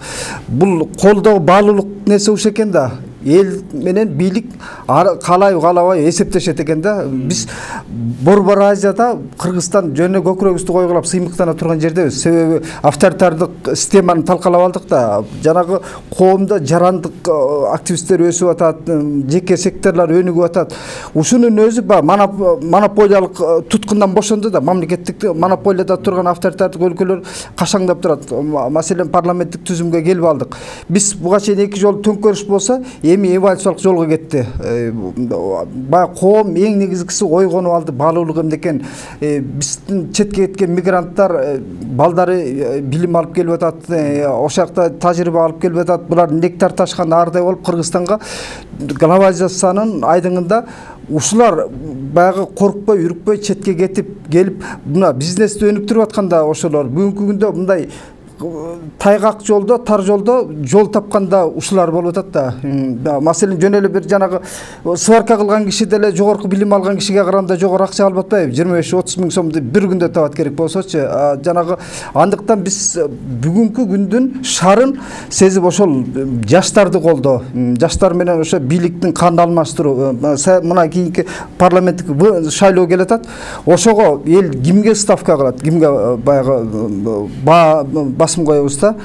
бул колдоо баалуулук нерсе уш экен да эл менен бийлик каалайбы каалабайбы эсептешет экен да биз Борбор Азияда Кыргызстан жөнүнө көкүрөгүбүздү койгулап сыймыктана турган жердебиз себеби авторитардык системаны талкалап алдык да жанагы коомдо жарандык активисттер өсүп атат жеке секторлор өнүгүп атат ушунун өзү баягы монополиялык туткундан бошонду да мамлекеттик монополияда турган авторитардык өлкөлөр кашаңдап турат маселен парламенттик түзүмгө келип алдык биз буга чейин эки жолу төңкөрүш болсо эми эволюциялык жолго кетти баягы коом эң негизгиси ойгонуп алды баалуулук эмне экен биздин четке кеткен мигранттар балдары билим алып келип атат ошол жакта тажрыйба алып келип атат булар нектар ташкан аардай болуп Кыргызстанга глобализациянын айдыңында ушулар баягы коркпой үрүкпөй четке кетип келип мына бизнести өнүктүрүп атканда ошолор бүгүнкү күндө мындай тайгак жолдо тар жолдо жол тапканда ушулар болуп атат да маселен жөн эле бир жанагы сварка кылган киши деле жогорку билим алган кишиге караганда жогору акча алып атпайбы жыйырма беш отуз миң сомду бир күндө табат керек болсочу жанагы андыктан биз бүгүнкү күндүн шарын сезип ошол жаштарды колдоо жаштар менен ошо бийликтин кандын алмаштыруу мына кийинки парламенттик шайлоо келатат ошого эл кимге ставка кылат кимге баягы басым коебуз да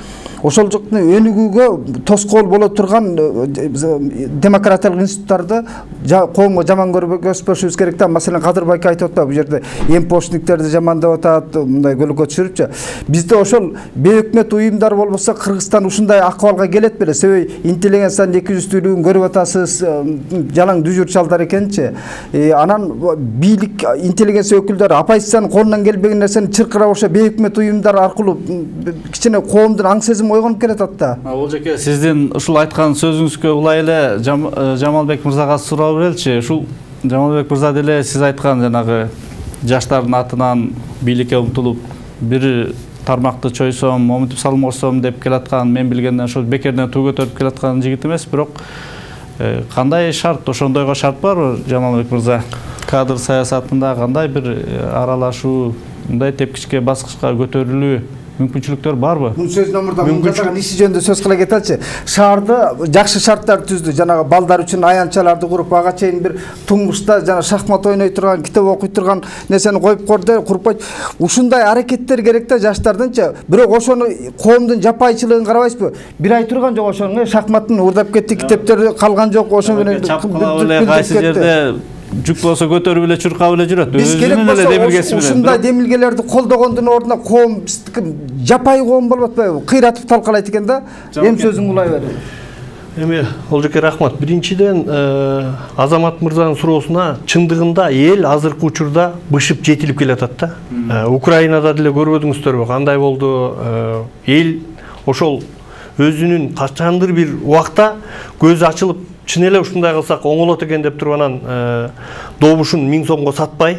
ошол жактан өнүгүүгө тоскоол боло турган демократиялык институттарды коомго жаман көрбөшүбүз керек да маселен Кадыр Байке айтып атпайбы бул жерде эмпошниктерди жамандап атат мындай көлөкө түшүрүпчү бизде ошол бейөкмөт уюмдар болбосо Кыргызстан ушундай акыбалга келет беле себеби интеллигенциянын эки жүздүүлүгүн көрүп атасыз жалаң дүжүр чалдар экенчи анан бийлик интеллигенция өкүлдөрү оппозициянын колунан келбеген нерсени чыркырап ошо бейөкмөт уюмдар аркылуу кичине коомдун аң сезими ойгонуп келатат да. Олжеке, сиздин ушул айткан сөзүңүзгө улай эле Жамалбек мырзага суроо береличи. Ушул Жамалбек мырза деле сиз айткан жанагы жаштардын атынан бийликке умтулуп бир тармакты чойсом, момунтип салмосом деп келаткан, мен билгенден ошол бекерден туу көтөрүп келаткан жигит эмес, бирок кандай шарт, ошондойго шарт барбы Жамалбек мырза? Кадр саясатында кандай бир аралашуу, мындай тепкичке баскычка көтөрүлүү мүмкүнчүлүктөр барбы? Бул сөздөн мурда мундагы иши жөнүндө сөз кыла кетеличи. Шаарды жакшы шарттар түздү. Жанагы балдар үчүн аянтчаларды куруп, ага чейин бир туңгушта жана шахмат ойной турган, китеп окуй турган нерсени коюп корду, курпайт. Ушундай аракеттер керек да жаштардынча. Бирок ошону коомдун жапайчылыгын карабайсызбы? Бир ай турган жок ошону, шахматтын урдап кетти, китептер калган жок, ошо менен кайсы жерде жүк болсо көтөрүп эле чуркап эле жүрөт. Өзүнүн эле демилгеси менен. Ушундай демилгелерди колдогондун ордуна коом биздики жапай коом болуп атпайбы? Кыйратып талкалайт экен да. Эм сөзүң улай бер. Эми Олжеке рахмат. Биринчиден Азамат мырзанын суроосуна чындыгында эл азыркы учурда бышып жетилип келатат да. Украинада деле көрбөдүңүздөрбү кандай болду? Эл ошол өзүнүн качандыр бир убакта көзү ачылып чын эле ушундай кылсак оңолот экен деп туруп анан добушун миң сомго сатпай,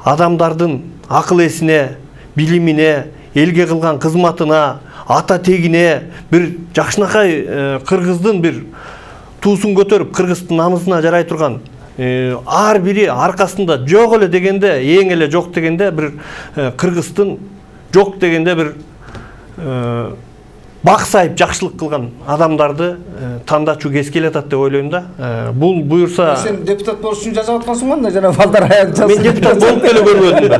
адамдардын акыл эсине, билимине, элге кылган кызматына, ата тегине бир жакшынакай кыргыздын бир туусун көтөрүп, кыргыздын намысына жарай турган ар бири аркасында жок эле дегенде, эң эле жок дегенде бир кыргыздын жок дегенде бир бак сайып жакшылык кылган адамдарды тандачу кез келатат деп ойлойм да. Бул буюрса сен депутат болуш үчүн жазып аткансың да, жана балдар аянтчасы. Мен депутат болуп деле көрбөдүм да.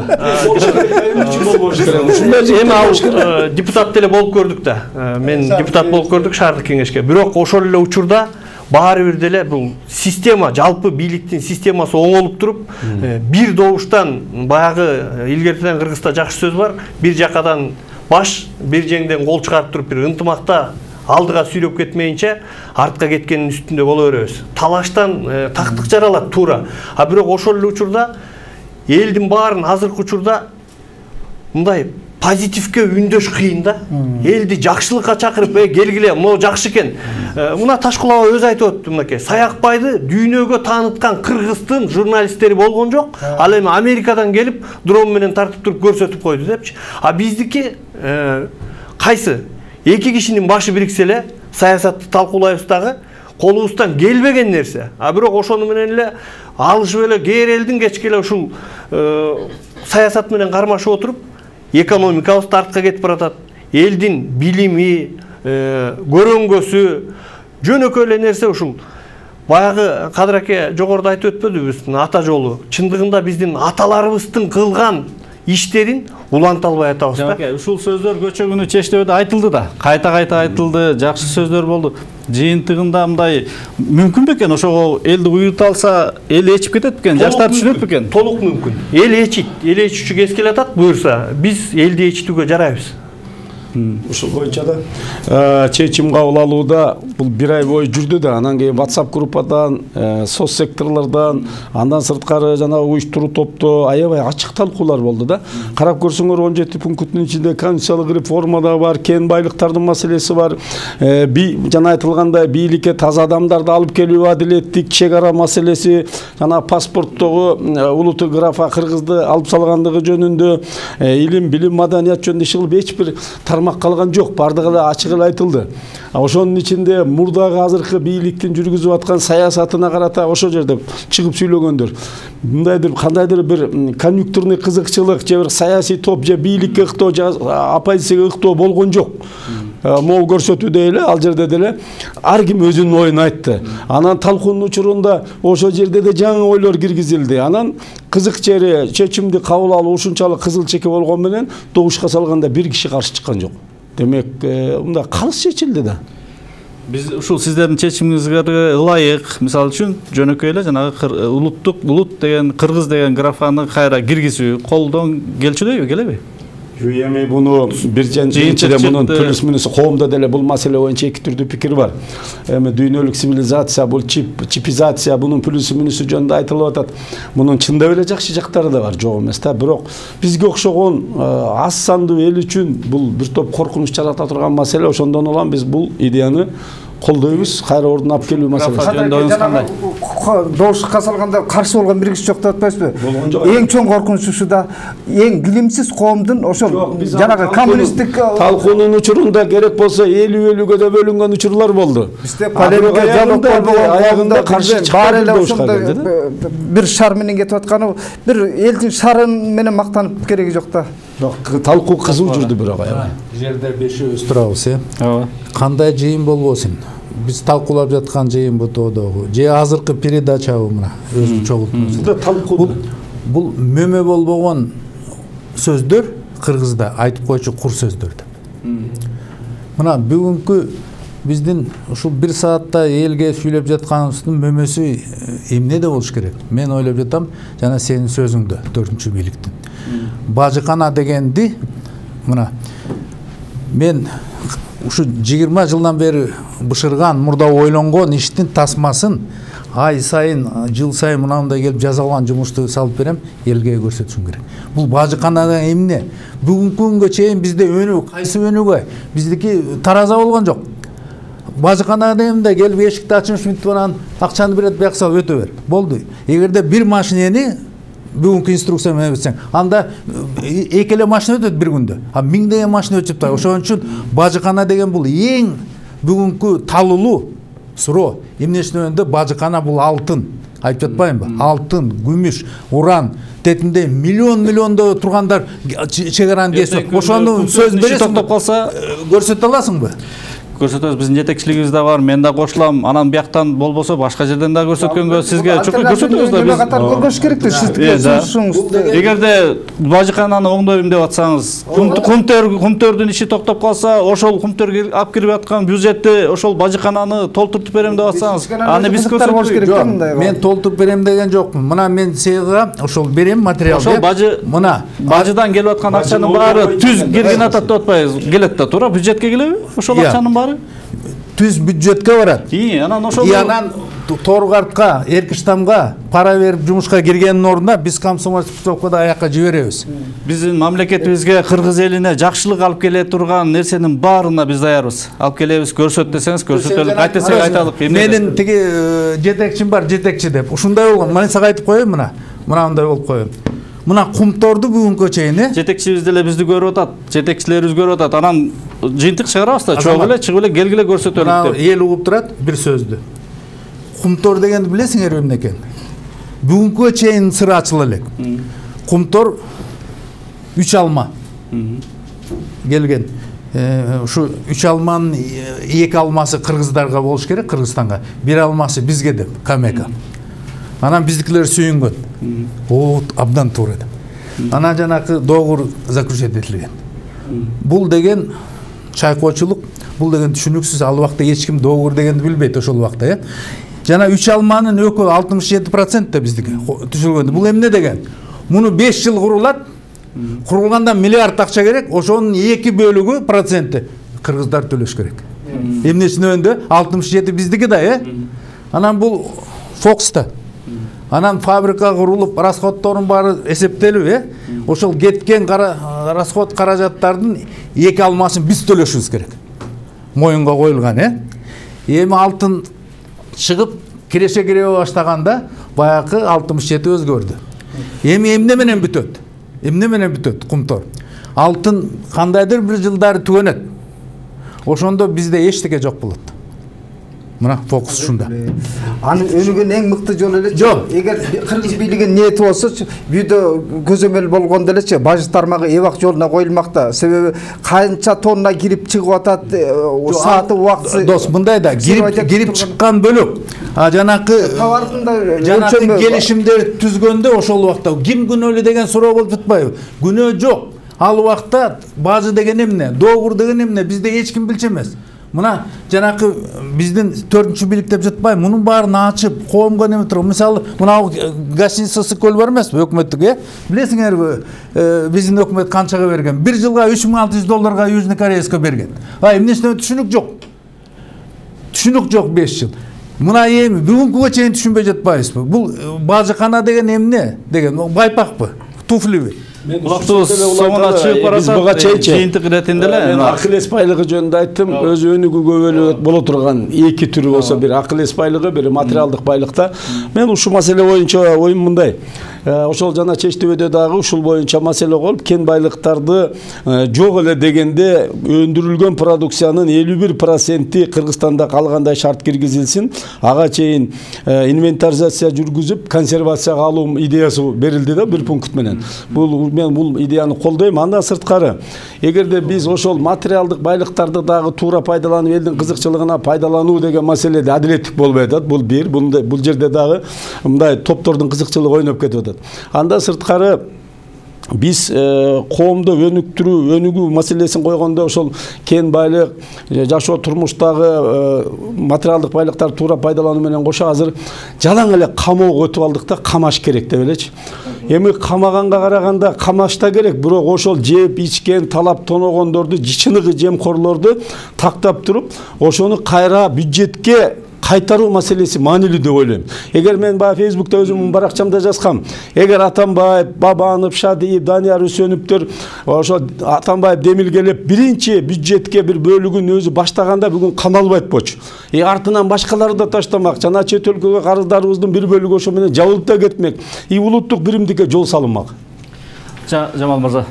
Эми ал депутат деле болуп көрдүк да. Мен депутат болуп көрдүк шаардык кеңешке. Бирок ошол эле учурда баары бир деле бул система, жалпы бийликтин системасы оңолуп туруп, бир добуштан баягы илгертеден Кыргызда жакшы сөз бар, бир жакадан баш, бир жеңден кол чыгарып туруп бир ынтымакта алдыга сүйрөп кетмейинче артка кеткендин үстүндө боло беребиз. Талаштан тактык жаралат туура. А бирок ошол эле учурда элдин баарын азыркы учурда мындай позитивке үндөш кыйын да. Элди жакшылыкка чакырып, "Э, келгиле, могу жакшы экен." Мына Ташкул аба өзү айтып өттү мынакей. Саякбайды дүйнөгө тааныткан кыргыздын журналисттери болгон жок. Ал эми Америкадан келип, дрон менен тартып туруп көрсөтүп койду депчи. А биздики кайсы? Эки кишинин башы бириксе эле саясатты талкуулайбыз дагы, колубуздан келбеген нерсе. А бирок ошону менен эле алышып эле кээ элдин кечке эле ушул саясат менен кармашып отуруп экономикабыз артка кетип баратат. Элдин билими, көрөңгөсү жөнөкөй эле нерсе ушул. Баягы Кадыр аке жогоруда айтып өтпөдүбүз, ата жолу. Чындыгында биздин аталарыбыздын кылган иштерин уланта албай атабыз да. Ушул сөздөр көчө күнү чечтебеде айтылды да. Кайта-кайта айтылды, жакшы сөздөр болду. Жыйынтыгында мындай мүмкүн бекен ошого элди уюта алса, эл ээчип кетет бекен, жаштар түшүнөт бекен? Толук мүмкүн. Эл ээчит, эл ээчүүчү кез келатат буюрса, биз элди ээчитүүгө жарайбыз. Ушул боюнча да чечим кабыл алууда бул бир ай бою жүрдү да, анан кийин WhatsApp группадан, соц секторлордон, андан сырткары жана уюштуруу топто аябай ачык талкуулар болду да. Карап көрсөңөр он жети пункттун ичинде конституциялык реформа да бар, кен байлыктардын маселеси бар, жана айтылгандай бийликке таза адамдарды алып келүү, адилеттик чек ара маселеси, жана паспорттогу улутту графа кыргызды алып салгандыгы жөнүндө, илим, билим, маданият жөнүндө иш кылып эч бир тармак калган жок, бардыгы эле ачык эле айтылды. Ошонун ичинде мурдагы азыркы бийликтин жүргүзүп аткан саясатына карата ошо жерде чыгып сүйлөгөндөр. Мындайдыр кандайдыр бир конъюнктурный кызыкчылык же бир саясий топ же бийликке ыктоо же оппозицияга ыктоо болгон жок. Могу көрсөтүүдө эле ал жерде деле ар ким өзүнүн оюн айтты. Анан талкуунун учурунда ошол жерде да жаңы ойлор киргизилди. Анан кызык жери чечимди кабыл алуу ушунчалык кызыл чеке болгон менен добушка салганда бир киши каршы чыккан жок. Демек, мында калыс чечилди да. Биз ушул сиздердин чечимиңизге ылайык, мисалы үчүн жөнөкөй эле жанагы улуттук улут деген кыргыз деген графаны кайра киргизүү колдон келчүдөйбү, келеби? Эми буну бир жыйынтыгы мунун плюс минус коомдо деле бул маселе боюнча эки түрдүү пикир бар. Эми дүйнөлүк цивилизация, бул чип, чипизация, бунун плюсу минусу жөнүндө айтылып атат. Мунун чындап эле жакшы жактары да бар, жок эмес да. Бирок бизге окшогон аз сандуу эл үчүн бул бир топ коркунуч жарата турган маселе. Ошондон улам биз бул идеяны колдойбуз, кайра ордуна алып келүү маселеси. Добушка салганда каршы болгон бир киши жок деп атпайсызбы? Эң чоң коркунуч ушуда эң билимсиз коомдун ошол жанагы коммунисттик талкуунун учурунда керек болсо элүү элүүгө да бөлүнгөн учурлар болду. Бизде полемика жабык болгон аягында каршы чыгар эле ошондой бир шар менен кетип атканы, бир элдин шарын менен мактанып кереги жок да. Жок, талкуу кызуу жүрдү бирок аябай. Жерде бешөөбүз турабыз, э? Ооба. Кандай жыйын болбосун? Биз талкуулап жаткан жыйын ботодогу же азыркы передачабы мына өзүн чогултуп. Бул бул мөмө болбогон сөздөр кыргызда айтып койчу кур сөздөр деп. Мына бүгүнкү биздин ушул бир саатта элге сүйлөп жатканыбыздын мөмөсү эмне де болуш керек? Мен ойлоп жатам, жана сенин сөзүңдө төртүнчү бийликтин. Бажыкана дегенди мына мен ушу жыйырма жылдан бери бышырган, мурда ойлонгон иштин тасмасын ай сайын, жыл сайын мынандай келип жазалган жумушту салып берем, элге көрсөтүшүм керек. Бул бажыканада эмне? Бүгүнкү күнгө чейин бизде өнүк, кайсы өнүгөй? Биздики тараза болгон жок. Бажыканада эмне келип эшикти ачып мынтип анан акчаны берет, бияк салып өтө бер. Болду. Эгерде бир машинени бүгүнкү инструкция менен өтсөң, анда эки эле машина өтөт бир күндө. А миңдеген машина өтүп турат. Ошон үчүн бажыкана деген бул эң бүгүнкү талуулуу суроо. Эмне үчүн бажыкана бул алтын. Айтып жатпайбы? Алтын, күмүш, уран, тетинде миллион миллиондо тургандар чегараны кесип, ошону сөз бересиң, токтоп калса көрсөтө аласыңбы? Көрсөтөбүз, биздин жетекчилигибиз да бар, мен да кошулам. Анан бияктан болбосо башка жерден да көрсөткөнгө сизге чөкө көрсөтөбүз да. Биз катар көргөш керек да, сиздин. Эгерде бажыкананы оңдойм деп атсаңыз, кумтөр кумтөрдүн иши токтоп калса, ошол кумтөр алып кирип аткан бюджетти ошол бажыкананы толтуруп берем деп атсаңыз, аны биз көрсөтөбүз. Мен толтуруп берем деген жокмун. Мына мен сага ошол берем материалды. Ошол бажы мына бажыдан келип аткан акчанын баары түз кирген атат деп атпайбыз. Келет да, туура бюджетке келеби? Ошол акчанын баары түз бюджетке барат. И, анан ошол И анан Торгартка, Эркиштамга пара берип жумушка киргендин ордуна биз комсомольский путевкада аякка жиберебиз. Биздин мамлекетибизге, кыргыз элине жакшылык алып келе турган нерсенин баарына биз даярбыз. Алып келебиз, көрсөт десеңиз көрсөтөлүк, айт десек айталык. Менин тиги жетекчим бар, жетекчи деп. Ушундай болгон. Мен сага айтып коеюн мына. Мынандай болуп коеюн. Мына кумторду бүгүнкү чейин, э? Жетекчибиз деле бизди көрүп атат, жетекчилерибиз көрүп атат. Анан жыйынтык чыгарабыз да, чогуу эле чыгып эле келгиле көрсөтөлүк деп. Эл угуп турат бир сөздү. Кумтор дегенди билесиңер эмне экен? Бүгүнкүгө чейин сыры ачыла элек. Кумтор үч алма келген. Ушу үч алманын эки алмасы кыргыздарга болуш керек, Кыргызстанга. Бир алмасы бизге деп, Камека. Анан биздикилер сүйүнгөн. О, абдан туура деп. Анан жанакы доогур заключить этилген. Бул деген чайкоочулук, бул деген түшүнүксүз. Ал убакта эч ким доогур дегенди билбейт ошол убакта, э. Жана үч алманын экөө алтымыш жети процент да биздики түшүлгөндө. Бул эмне деген? Муну беш жыл курулат. Курулганда миллиард акча керек, ошонун эки бөлүгү проценти кыргыздар төлөш керек. Эмнесине өндө алтымыш жети биздики да, э. Анан бул Фокста. Анан фабрика курулуп, расходтордун баары эсептелип, э. Ошол кеткен расход каражаттардын эки алмасын биз төлөшүбүз керек. Моюнга коюлган, э. Эми алтын чыгып, киреше кире баштаганда баягы алтымыш жети өзгөрдү. Эми эмне менен бүтөт? Эмне менен бүтөт Кумтор? Алтын кандайдыр бир жылдары түгөнөт. Ошондо бизде эчтеке жок болот. Мына фокус ушунда. Анын өнүгөн эң мыкты жолу эле. Жок. Эгер кыргыз бийлигин ниети болсочу, бүйдө көзөмөл болгондо элечи бажы тармагы эбак жолуна коюлмакта. Себеби канча тонна кирип чыгып атат, сааты убактысы. Дос, мындай да кирип кирип чыккан бөлөк. А жанакы товардын жанакы келишимдер түзгөндө ошол убакта ким күнөөлүү деген суроо болуп жатпайбы? Күнөө жок. Ал убакта бажы деген эмне, доогур деген эмне бизде эч ким билчү эмес. Мына жанакы биздин төртүнчү бийлик деп жатпайбы? Мунун баарын ачып, коомго неме туруп, мисалы, мына гостиница көл бар эмеспи, өкмөттүк, э? Билесиңерби, биздин өкмөт канчага берген? бир жылга үч миң алты жүз долларга Южный Корейска берген. А эмнесине түшүнүк жок. Түшүнүк жок беш жыл. Мына эми бүгүнкүгө чейин түшүнбөй жатпайбызбы? Бул бажыкана деген эмне деген? Байпакпы? Туфлиби? Кулактуу соңуна чыгып барасат. Жыйынтык иретинде эле мен акыл эс байлыгы жөнүндө айттым. Өз өнүгүүгө бөлөп боло турган эки түрү болсо, бир акыл эс байлыгы, бир материалдык байлыкта. Мен ушул маселе боюнча оюм мындай. Ошол жана Чечтөбөдө дагы ушул боюнча маселе болуп, кен байлыктарды жок эле дегенде өндүрүлгөн продукциянын элүү бир проценти Кыргызстанда калгандай шарт киргизилсин. Ага чейин инвентаризация жүргүзүп, консервацияга алуу идеясы берилди да, бир пункт менен. Бул мен бул идеяны колдойм. Андан сырткары, эгерде биз ошол материалдык байлыктарды дагы туура пайдаланып, элдин кызыкчылыгына пайдалануу деген маселеде адилеттик болбой атат. Бул бир, бул жерде дагы мындай топтордун кызыкчылыгы ойноп кетип атат. Андан сырткары, биз коомдо өнүктүрүү, өнүгүү маселесин койгондо ошол кен байлык, жашоо турмуштагы материалдык байлыктарды туура пайдалануу менен кошо азыр жалаң эле камоого өтүп алдык да, камаш керек деп элечи. Эми камаганга караганда камаш да керек, бирок ошол жеп, ичкен, талап тоногондорду, чыныгы жемкорлорду тактап туруп, ошону кайра бюджетке кайтаруу маселеси маанилүү деп ойлойм. Эгер мен баягы Фейсбукта өзүмдүн баракчамда жазгам, эгер Атамбаев, Бабанов, Шадиев, Данияр Үсөнүптөр ошо Атамбаев демилгелеп биринчи бюджетке бир бөлүгүн өзү баштаганда бүгүн камалбайт болчу. И артынан башкалары да таштамак, жана чет өлкөгө карыздарыбыздын бир бөлүгү ошо менен жабылып да кетмек. И улуттук биримдикке жол салынмак. Жамал мырза.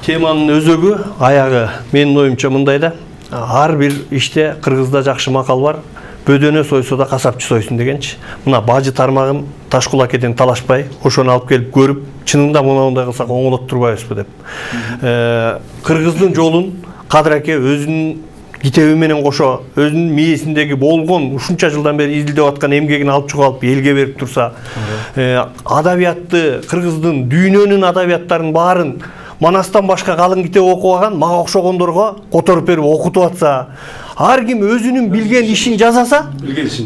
Теманын өзөгү, аягы менин оюмча мындай да. Ар бир иште Кыргызда жакшы макал бар. Бөдөнө сойсо да касапчы сойсун дегенчи. Мына бажы тармагын Ташкулакеден талашпай, ошону алып келип көрүп, чынында мындай кылсак оңолот турбайбызбы деп. Кыргыздын жолун Кадыр аке өзүнүн китеби менен кошо, өзүнүн мээсиндеги болгон ушунча жылдан бери изилдеп аткан эмгегин алып чыгып элге берип турса, адабиятты, Кыргыздын дүйнөнүн адабияттарын баарын Манастан башка калың китеп окубаган, мага окшогондорго которуп берип окутуп атса, ар ким өзүнүн билген ишин жазаса,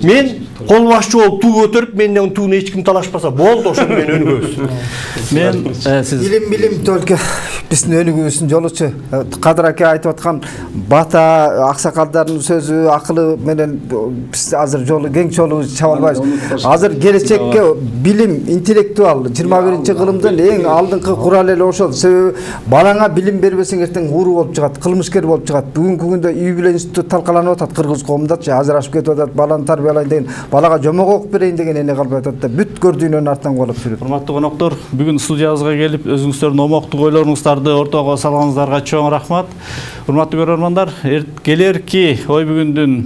мен кол башчы болуп туу көтөрүп, менден тууну эч ким талашпаса болду, ошону мен өнүгөбүз. Мен сиз илим билим только биздин өнүгүүбүздүн жолучу. Кадыр аке айтып аткан бата аксакалдардын сөзү, акылы менен биз азыр жолу кең жолу чаба албайбыз. Азыр келечекке билим, интеллектуал жыйырма биринчи кылымдын эң алдыңкы куралы эле ошол. Себеби балаңа билим бербесең эртең уру болуп чыгат, кылмышкер болуп чыгат. Бүгүнкү күндө үй бүлө институту талкаланып атат кыргыз коомундачы, ажырашып кетип атат, баланы тарбиялайын деген, балага жомок окуп берейин деген эне калбай атат да, бүт көрдүйнөн артан куалап жүрөт. Урматтуу коноктор, бүгүн студиябызга келип, өзүңүздөрдүн омоктуу ойлоруңуздарды ортого салганыңыздарга чоң рахмат. Урматтуу көрөрмандар, келерки ой бүгүндүн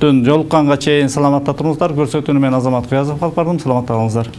жолукканга чейин саламатта туруңуздар. Көрсөтүүнү мен Азамат Кыязов алып бардым. Саламатта калыңыздар.